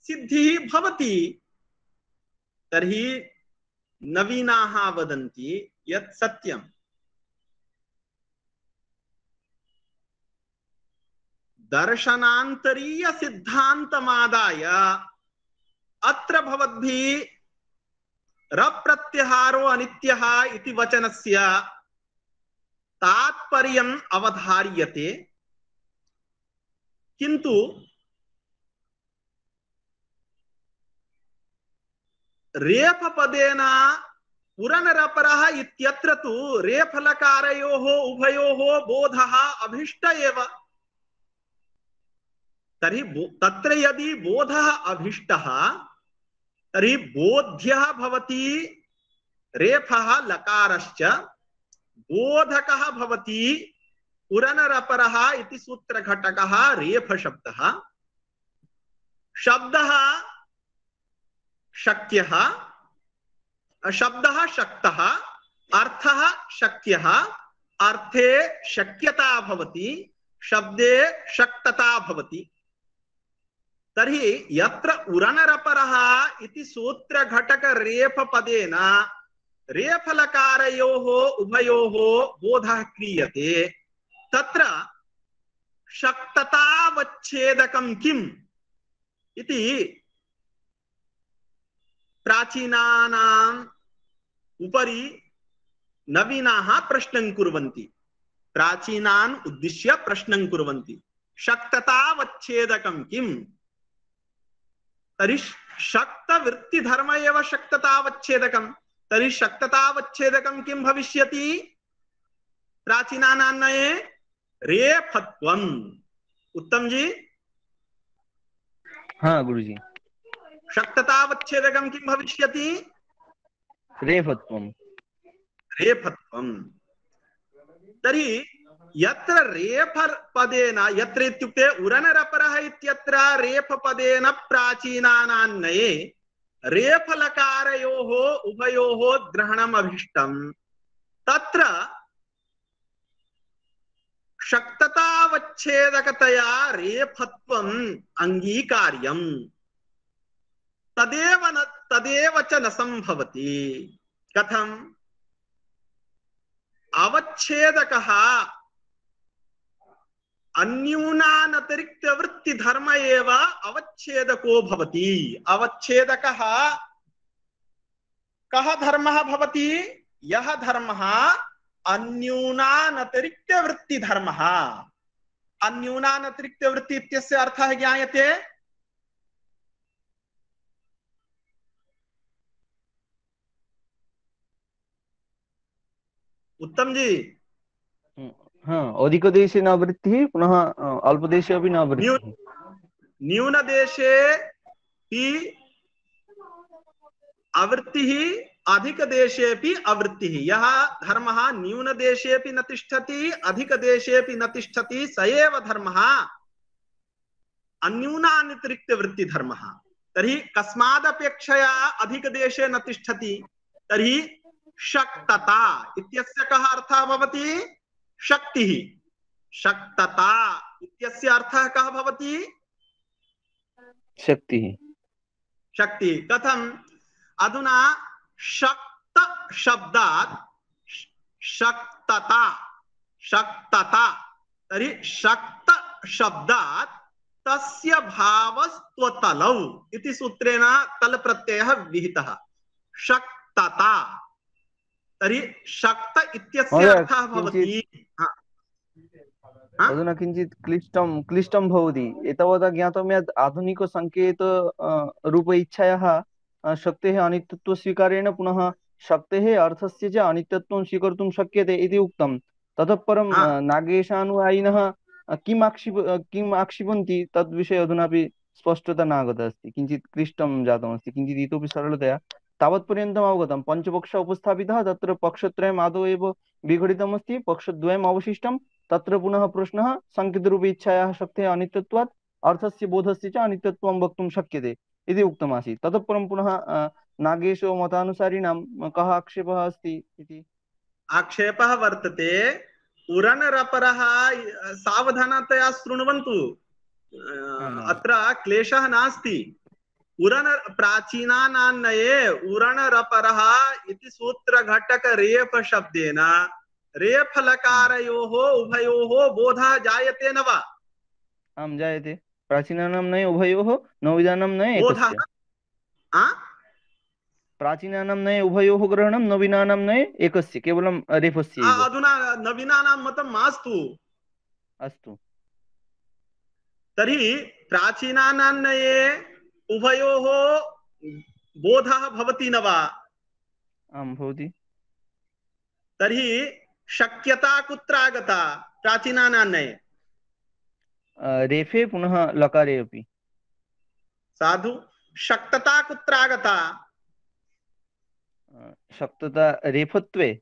सिद्धिः भवति। तर्हि नवीनाः वदन्ति यत् सत्यं दर्शनान्तरीय सिद्धान्तमादाय अत्र भवद्भिः रप्रत्यहारो अनित्यः इति वचनस्य तात्पर्यम् अवधार्यते, किन्तु रेफपदेन पुरनरपरः इत्यत्र तु रेफलकारयोः उभयोः बोधः अभीष्ट एव। तर्हि तत्र यदि बोधः अभीष्टः तर्हि बोध्यः भवति रेफः लकारश्च, बोधकः भवति पुरनरपरः इति सूत्रघटकः रेफशब्दः। शब्दः शक्यः, शब्दः शक्तः, अर्थः शक्यः, अर्थे शक्यता भवति, शब्दे शक्तता भवति। तर्हि यत्र उरनरपरः इति सूत्रघटक रेफपदेन रेफलकारयोः उभयोः बोधः क्रियते, तत्र शक्ततावच्छेदकं किम् इति प्राचीनानां उपरि नवीनाः प्रश्नं कुर्वन्ति, प्राचीनान् उद्दिश्य प्रश्नं कुर्वन्ति। शक्ततावच्छेदकं किम्? तर्हि शक्तवृत्तिधर्म एव शक्ततावच्छेदकं। तर्हि शक्ततावच्छेदकं किं भविष्यति? प्राचीनानान्नये रेफत्वम्। उत्तम जी, हाँ गुरुजी। शक्ततावच्छेदकं किं भविष्यति? रेफत्वम्। रेफत्वम्। तर्हि यत्र रेफ पदेन, यत्र इत्युक्ते उरनरपरः इत्यत्र रेफ पदेन प्राचीनानान्नये रेफलकारयोः उभयोः ग्रहणम् अभिष्टम्। तत्र शक्ततावच्छेदकतया रेफत्वम् अङ्गीकार्यम्। तदेव च न संभवति। कथम्? अवच्छेदकः अन्यूनानतिरिक्तवृत्तिधर्म एव अवच्छेदको भवति। अवच्छेदकः कः धर्मः भवति? यः धर्मः अन्यूनानतिरिक्तवृत्तिधर्मः। अन्यूनानतिरिक्तवृत्ति इत्यस्य अर्थः ज्ञायते? उत्तम जी, हाँ, अधिकदेशे न वृत्तिः, पुनः अल्पदेशे अपि न वृत्तिः। न्यूनदेशे हि अवृत्तिः, अधिकदेशेऽपि अवृत्तिः। यः धर्मः न्यूनदेशेऽपि न तिष्ठति, अधिकदेशेऽपि न तिष्ठति, स एव धर्मः अन्यूनानतिरिक्तवृत्तिधर्मः। तर्हि कस्मादपेक्षया अधिकदेशे न तिष्ठति? तर्हि शक्तता इत्यस्य कः अर्थः भवति? शक्तिः। शक्तता इत्यस्य अर्थः कः भवति? शक्तिः। शक्ति। कथम्? अधुना शक्त शब्दात् शक्तता, शक्तता, तर्हि शक्त शब्दात् तस्य भावस्त्वतलौ इति सूत्रेण तल प्रत्ययः विहितः। शक्तता, तर्हि शक्त इत्यस्य अर्थः भवति। अधुना किञ्चित् क्लिष्टं भवति। एतावता ज्ञातं यत् आधुनिकसङ्केत रूप इच्छायाः शक्तेः अनित्यत्वस्वीकारेण पुनः शक्तेः अर्थस्य च अनित्यत्वं स्वीकर्तुं शक्यते इति उक्तं। ततः परं नागेशानुयायिनः किम् आक्षिपन्ति तद्विषये अधुनापि स्पष्टता नागता अस्ति। किञ्चित् क्लिष्टं जातमस्ति। किञ्चित् इतोपि सरलतया तावत्पर्यन्तम् अवगतं। पञ्चपक्षः उपस्थापितः, तत्र पक्षत्रयम् आदौ एव विघटितमस्ति, पक्षद्वयम् अवशिष्टं। तत्र पुनः प्रश्नः सङ्केतरूपे इच्छायाः शक्तेः अनित्यत्वात् अर्थस्य बोधस्य च अनित्यत्वं वक्तुं शक्यते इति उक्तमासीत्। ततः परं पुनः नागेशो मतानुसारिणां कः आक्षेपः अस्ति इति? आक्षेपः वर्तते उरनरपरः। सावधानतया शृण्वन्तु, अत्र क्लेशः नास्ति। प्राचीनानान्नये उरणरपरः इति सूत्रघटक रेफ शब्देन रेफलकारयोः उभयोः बोधः जायते न वा? आं जायते। प्राचीनानां नये उभयोः, नवीनानां नये एकस्य। प्राचीनानां नये उभयोः ग्रहणं, नवीनानां नये एकस्य, केवलं रेफस्य एव। अधुना नवीनानां मतं मास्तु। अस्तु। तर्हि प्राचीनानां नये उभयोः बोधः भवति न वा? आं भवति। तर्हि शक्यता कुत्र आगता? प्राचीनानां नये रेफे पुनः लकारे अपि। साधु। शक्तता कुत्र आगता? शक्तता रेफत्वे।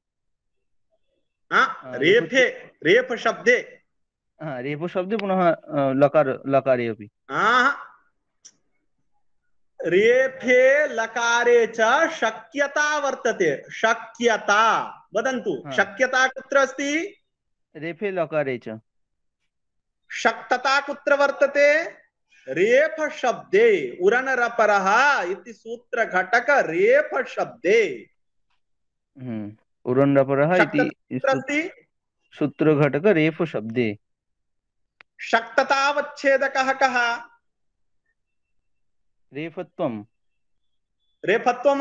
रेफे, रेफ शब्दे। रेफ शब्दे पुनः लकारे अपि। रेफे लकारे च शक्यता वर्तते। शक्यता वदन्तु, शक्यता कुत्र अस्ति? रेफे लकारे च। शक्तता कुत्र वर्तते? रेफ शब्दे। उरनरपरः इति सूत्रघटक रेफ शब्दे। उरनरपरः इति सूत्रघटक रेफ शब्दे। शक्ततावच्छेदकः कः? रेफत्वम्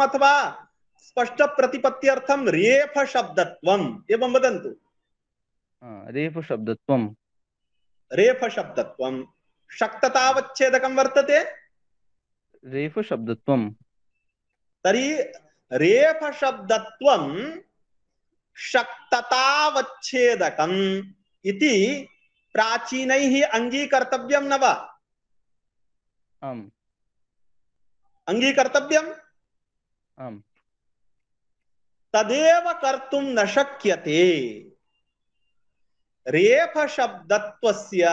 अथवा स्पष्ट प्रतिपत्त्यर्थं रेफ शब्दत्वम् एवं वदन्तु। रेफ शब्दत्वम्। रेफ शब्दत्वं शक्ततावच्छेदकं वर्तते। रेफ शब्दत्वम्। तर्हि रेफ शब्दत्वं शक्ततावच्छेदकम् इति प्राचीनैः अङ्गीकर्तव्यं न वा? आम्। अङ्गीकर्तव्यम्। आम्। तदेव कर्तुं न शक्यते। रेफ शब्दत्वस्य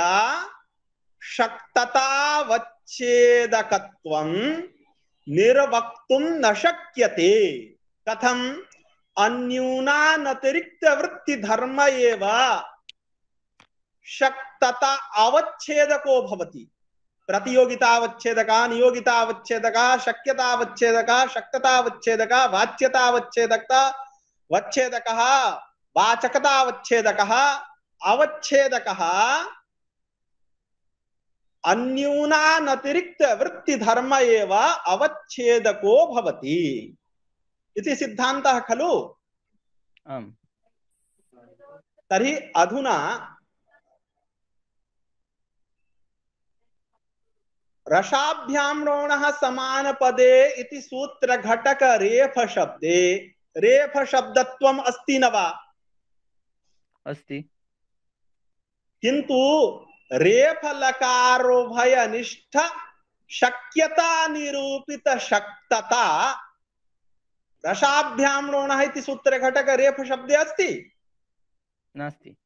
शक्ततावच्छेदकत्वं निर्वक्तुं न शक्यते। कथम्? अन्यूनानतिरिक्तवृत्तिधर्म एव शक्तता अवच्छेदको भवति। प्रतियोगितावच्छेदका, नियोगितावच्छेदका, शक्यतावच्छेदका, शक्ततावच्छेदका, वाच्यतावच्छेदकता वच्छेदकः, वाचकतावच्छेदकः, अवच्छेदकः अन्यूनानतिरिक्तवृत्तिधर्म एव अवच्छेदको भवति इति सिद्धान्तः खलु? आम्। तर्हि अधुना रसाभ्यां रोणः समानपदे इति सूत्रघटक रेफ शब्दे रेफ शब्दत्वम् अस्ति न वा? अस्ति। किन्तु रेफ लकारोभयनिष्ठ शक्यता निरूपित शक्तता रसाभ्यां रोणः इति सूत्रघटक रेफ शब्दे अस्ति? नास्ति।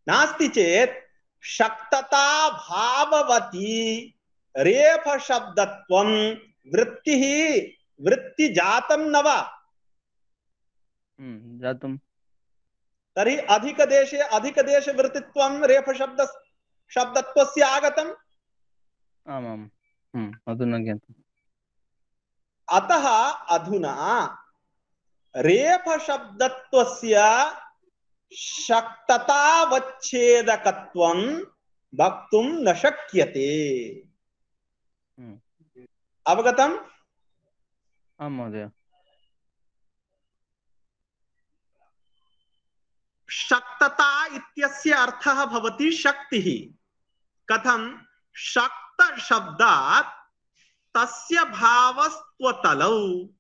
नास्ति चेत् शक्तता भाववती रेफ शब्दत्वं वृत्तिः वृत्तिजातं न वा? जातं। तर्हि अधिकदेशे वृत्तित्वं रेफ शब्दत्वस्य आगतम्। आमाम्। अधुना ज्ञातम्। अतः अधुना रेफ शब्दत्वस्य शक्ततावच्छेदकत्वं वक्तुं न शक्यते। अवगतम्? आं महोदय। शक्तता इत्यस्य अर्थः भवति शक्तिः। कथं? शक्त शब्दात् तस्य भावस्त्वतलौ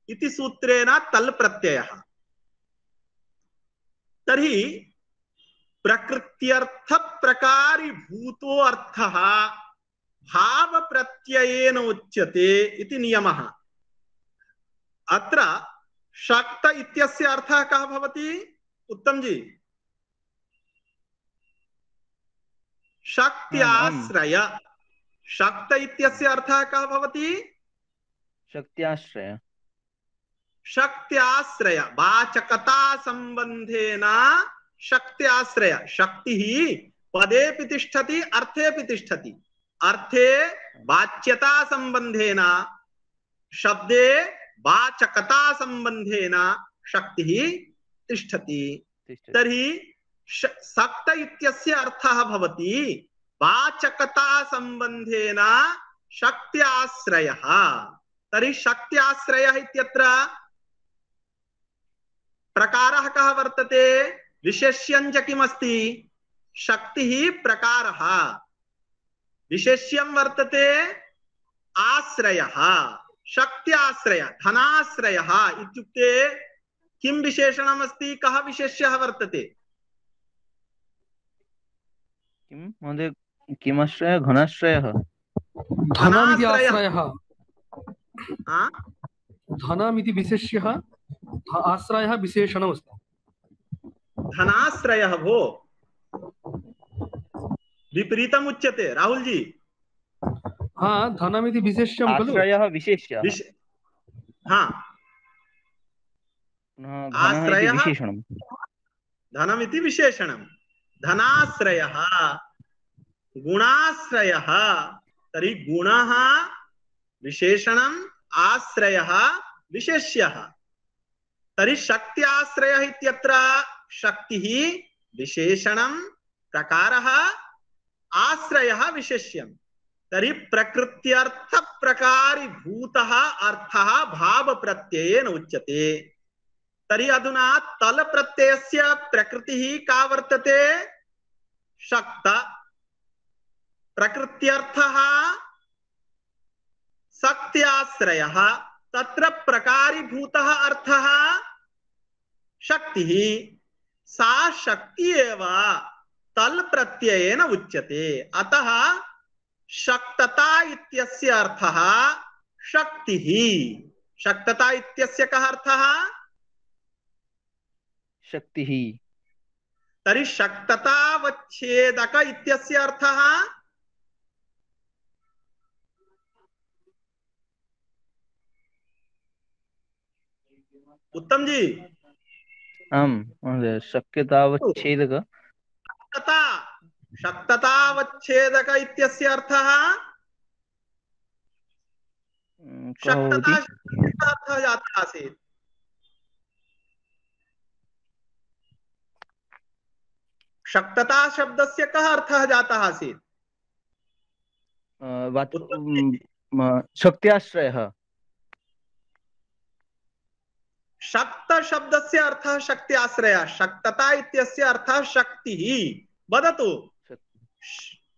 इति सूत्रेण तल् प्रत्ययः। तर्हि प्रकृत्यर्थ प्रकारीभूतो अर्थः भाव प्रत्ययेन उच्यते इति नियमः। अत्र शक्त इत्यस्य अर्थः कः भवति? उत्तम जी, शक्त्याश्रय। शक्त इत्यस्य अर्थः कः भवति? शक्त्याश्रय। शक्त्याश्रय वाचकता संबंधेन शक्त्याश्रय। शक्तिः पदेपि तिष्ठति, अर्थेपि तिष्ठति। अर्थे वाच्यता संबंधेन, शब्दे वाचकता संबंधेन शक्तिः तिष्ठति। तर्हि शक्त इत्यस्य अर्थः भवति वाचकता संबंधेन शक्त्याश्रयः। तर्हि शक्त्याश्रयः इत्यत्र प्रकारः कः वर्तते? विशेष्यं च किमस्ति? शक्तिः प्रकारः। विशेष्यं वर्तते आश्रयः, शक्त्याश्रय। धनाश्रयः इत्युक्ते किं विशेषणम् अस्ति? कः विशेष्यः वर्तते? किं महोदय? किमाश्रयः? घनाश्रयः। धनमिति आश्रयः। हाँ? धनमिति विशेष्यः, आश्रयः विशेषणमस्ति। धनाश्रयः भो विपरीतम् उच्यते राहुल जी। हाँ, धनमिति विशेष्यं खलु। आश्रयः विशेष्यः। हाँ, आश्रयः विशेषणं। धनमिति विशेषणं। धनाश्रयः गुणाश्रयः। तर्हि गुणः विशेषणम्, आश्रयः विशेष्यः। तर्हि शक्त्याश्रयः इत्यत्र शक्तिः विशेषणं, प्रकारः, आश्रयः विशेष्यं। तर्हि प्रकृत्यर्थ प्रकारीभूतः अर्थः भाव प्रत्ययेन उच्यते। तर्हि अधुना तल प्रत्ययस्य प्रकृतिः का वर्तते? शक्त। प्रकृत्यर्थः शक्त्याश्रयः। तत्र प्रकारीभूतः अर्थः शक्तिः। सा शक्ति एव तल प्रत्ययेन उच्यते। अतः शक्तता इत्यस्य अर्थः शक्तिः। शक्तता इत्यस्य कः अर्थः? शक्तिः। तर्हि शक्ततावच्छेदक इत्यस्य अर्थः? उत्तम जी। आम् महोदय, शक्यतावच्छेदक। शक्तता, शक्ततावच्छेदक इत्यस्य अर्थः? कः भवति? शक्तता शब्दस्य अर्थः जातः आसीत्। शक्तता शब्दस्य कः अर्थः जातः आसीत्? शक्त्याश्रयः। शक्त शब्दस्य अर्थः शक्ति आश्रयः। शक्तता इत्यस्य अर्थः शक्तिः। वदतु,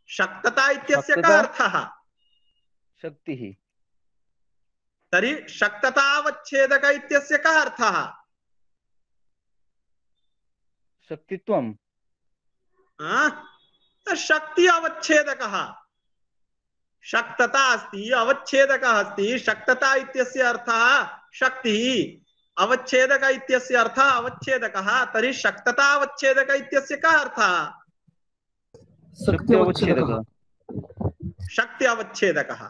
शक्तता इत्यस्य कः अर्थः? शक्तिः। तर्हि शक्ततावच्छेदक इत्यस्य कः अर्थः? शक्तित्वम्। शक्ति अवच्छेदकः। शक्तता अस्ति, अवच्छेदकः अस्ति। शक्तता इत्यस्य अर्थः शक्तिः, अवच्छेदक इत्यस्य अर्थः अवच्छेदकः। तर्हि शक्ततावच्छेदक इत्यस्य कः अर्थः? शक्ति अवच्छेदकः। शक्ति अवच्छेदकः।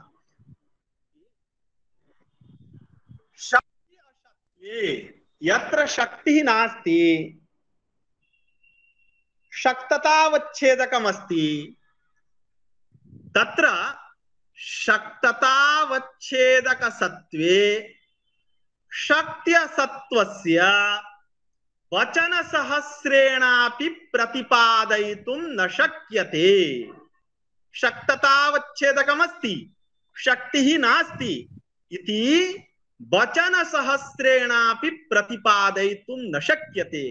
शक्ति अशक्ति यत्र शक्तिः नास्ति शक्ततावच्छेदकमस्ति। तत्र शक्ततावच्छेदकसत्त्वे शक्त्यसत्त्वस्य वचनसहस्रेणापि प्रतिपादयितुं न शक्यते। शक्ततावच्छेदकमस्ति, शक्तिः नास्ति इति वचनसहस्रेणापि प्रतिपादयितुं न शक्यते।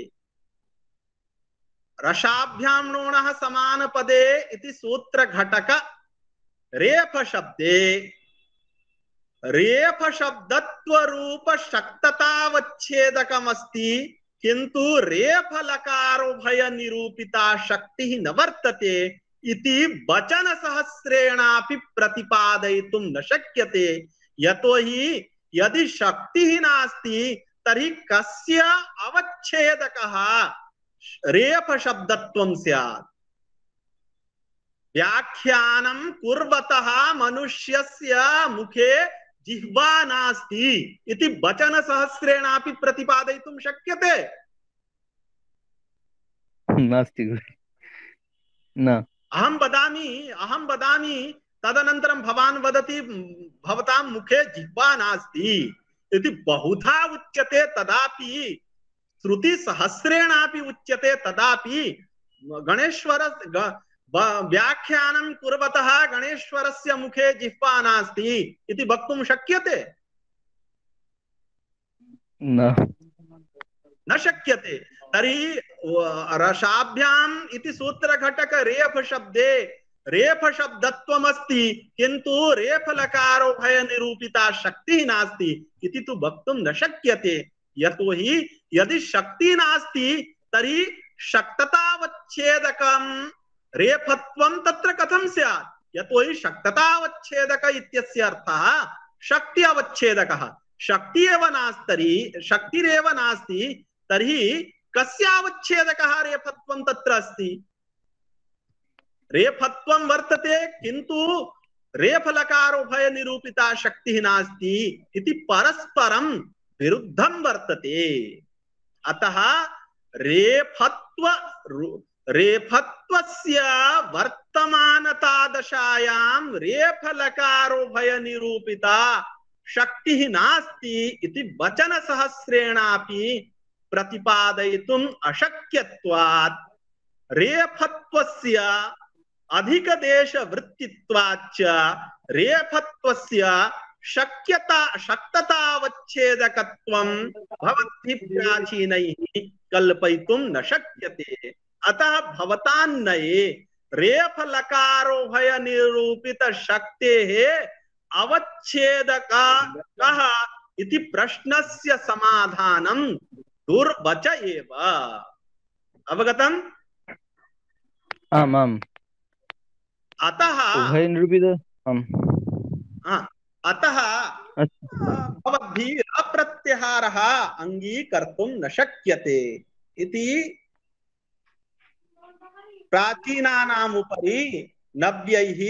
रसाभ्यां नोणः समानपदे इति सूत्रघटक रेफ शब्दे रेफ शब्दत्वरूप शक्ततावच्छेदकमस्ति, किन्तु रेफ लकारोभय निरूपिता शक्तिः न वर्तते इति वचन सहस्रेणापि प्रतिपादयितुं न शक्यते। यतोहि यदि शक्तिः नास्ति तर्हि कस्य अवच्छेदकः रेफ शब्दत्वं स्यात्। व्याख्यानं कुर्वतः मनुष्यस्य मुखे जिह्वा नास्ति इति वचन सहस्रेणापि प्रतिपादयितुं शक्यते? नास्ति न। अहं वदामि तदनन्तरं भवान् वदति भवतां मुखे जिह्वा नास्ति इति बहुधा उच्यते, तदापि श्रुति सहस्रेणापि उच्यते, तदापि गणेश्वर व्याख्यानं कुर्वतः गणेश्वरस्य मुखे जिह्वा नास्ति इति वक्तुं शक्यते? न शक्यते। तर्हि रसाभ्याम् इति सूत्रघटक रेफ शब्दे रेफ शब्दत्वमस्ति, किन्तु रेफ लकारोभय निरूपिता शक्तिः नास्ति इति तु वक्तुं न शक्यते। यतोहि यदि शक्ति नास्ति तर्हि शक्ततावच्छेदकं रेफत्वं तत्र कथं स्यात्? यतोहि शक्ततावच्छेदक इत्यस्य अर्थः शक्ति अवच्छेदकः। शक्तिरेव नास्ति तर्हि कस्यावच्छेदकः रेफत्वं तत्र अस्ति? रेफत्वं वर्तते, किन्तु रेफलकारोभय निरूपिता शक्तिः नास्ति इति परस्परं विरुद्धं वर्तते। अतः रेफत्वस्य वर्तमानतादशायां रेफलकारोभय निरूपिता शक्तिः नास्ति इति वचन सहस्रेणापि प्रतिपादयितुम् अशक्यत्वात् रेफत्वस्य अधिकदेशवृत्तित्वाच्च रेफत्वस्य शक्ततावच्छेदकत्वं भवद्भिः प्राचीनैः कल्पयितुं न शक्यते। अतः भवतान्नये रेफलकारोभय निरूपित शक्तेः अवच्छेदका कः इति प्रश्नस्य समाधानं दुर्वच एव। अवगतम्? आम् आम्। अतः उभयनिरूपित अतः भवद्भिः अप्रत्याहारः अङ्गीकर्तुं न शक्यते इति प्राचीनानाम् उपरि नव्यैः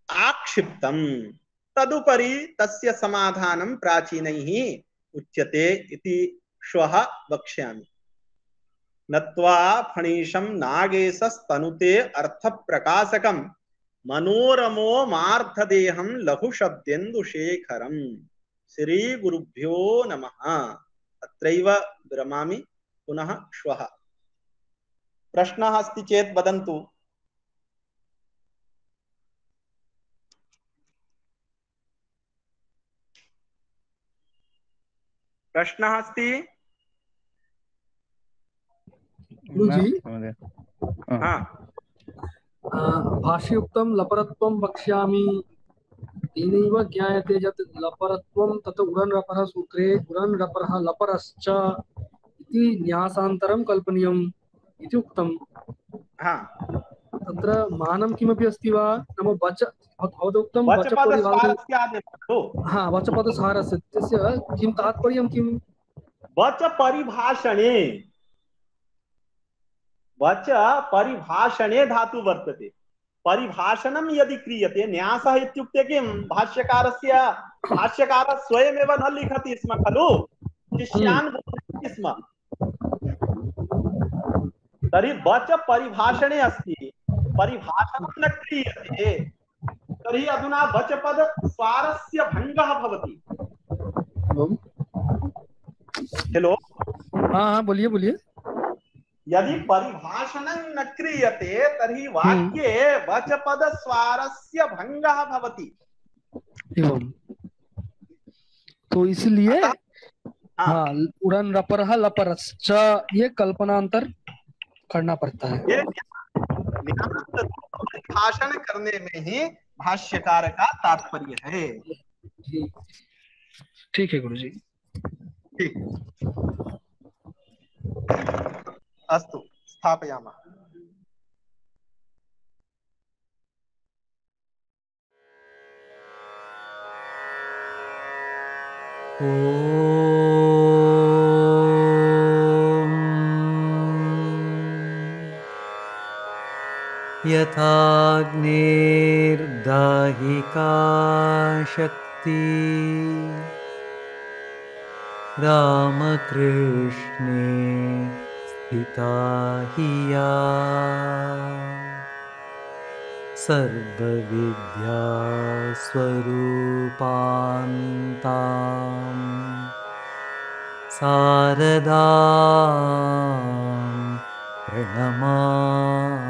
आक्षिप्तम्। तदुपरि तस्य समाधानं प्राचीनैः उच्यते इति श्वः वक्ष्यामि। नत्वा फणीशं नागेशस्तनुते अर्थप्रकाशकं मनोरमो मार्धदेहं लघुशब्देन्दुशेखरम्। श्रीगुरुभ्यो नमः। अत्रैव विरमामि, पुनः श्वः। प्रश्नः अस्ति चेत् वदन्तु। प्रश्नः अस्ति? गुरुजी, हाँ। भाष्ययुक्तं लपरत्वं वक्ष्यामि तेनैव ज्ञायते यत् लपरत्वं तत् उरनरपरः सूत्रे उरनरपरः लपरश्च इति न्यासान्तरं कल्पनीयम् इति उक्तम्। हाँ। तत्र मानं किमपि अस्ति वा? नाम वच भवदुक्तं वचपदसारस्यादेव। हाँ, वचपदसारस्य तस्य किं तात्पर्यं किम्? वच परिभाषणे, वच परिभाषणे धातु वर्तते। परिभाषणं यदि क्रियते, न्यासः इत्युक्ते किं? भाष्यकारः स्वयमेव न लिखति स्म खलु, शिष्यान् बोधयति स्म। तर्हि वच परिभाषणे अस्ति, परिभाषणं न क्रियते, तर्हि अधुना वचपद स्वारस्य भङ्गः भवति। हेलो, हाँ, बोलिए बोलिए। यदि परिभाषणं न क्रियते तर्हि वाक्ये वचपद स्वारस्य भङ्गः भवति। एवं, तो इसलिए हाँ, उड़न रपरः लपरश्च ये कल्पनांतर करना पड़ता है। ये भाषण करने में ही भाष्यकार का तात्पर्य है। ठीक है गुरुजी। ठीक, अस्तु, स्थापयामः। यथाग्नेर्दाहिका शक्ति रामकृष्णे स्थिता हि या सर्वविद्या स्वरूपान्तां शारदां प्रणमामि।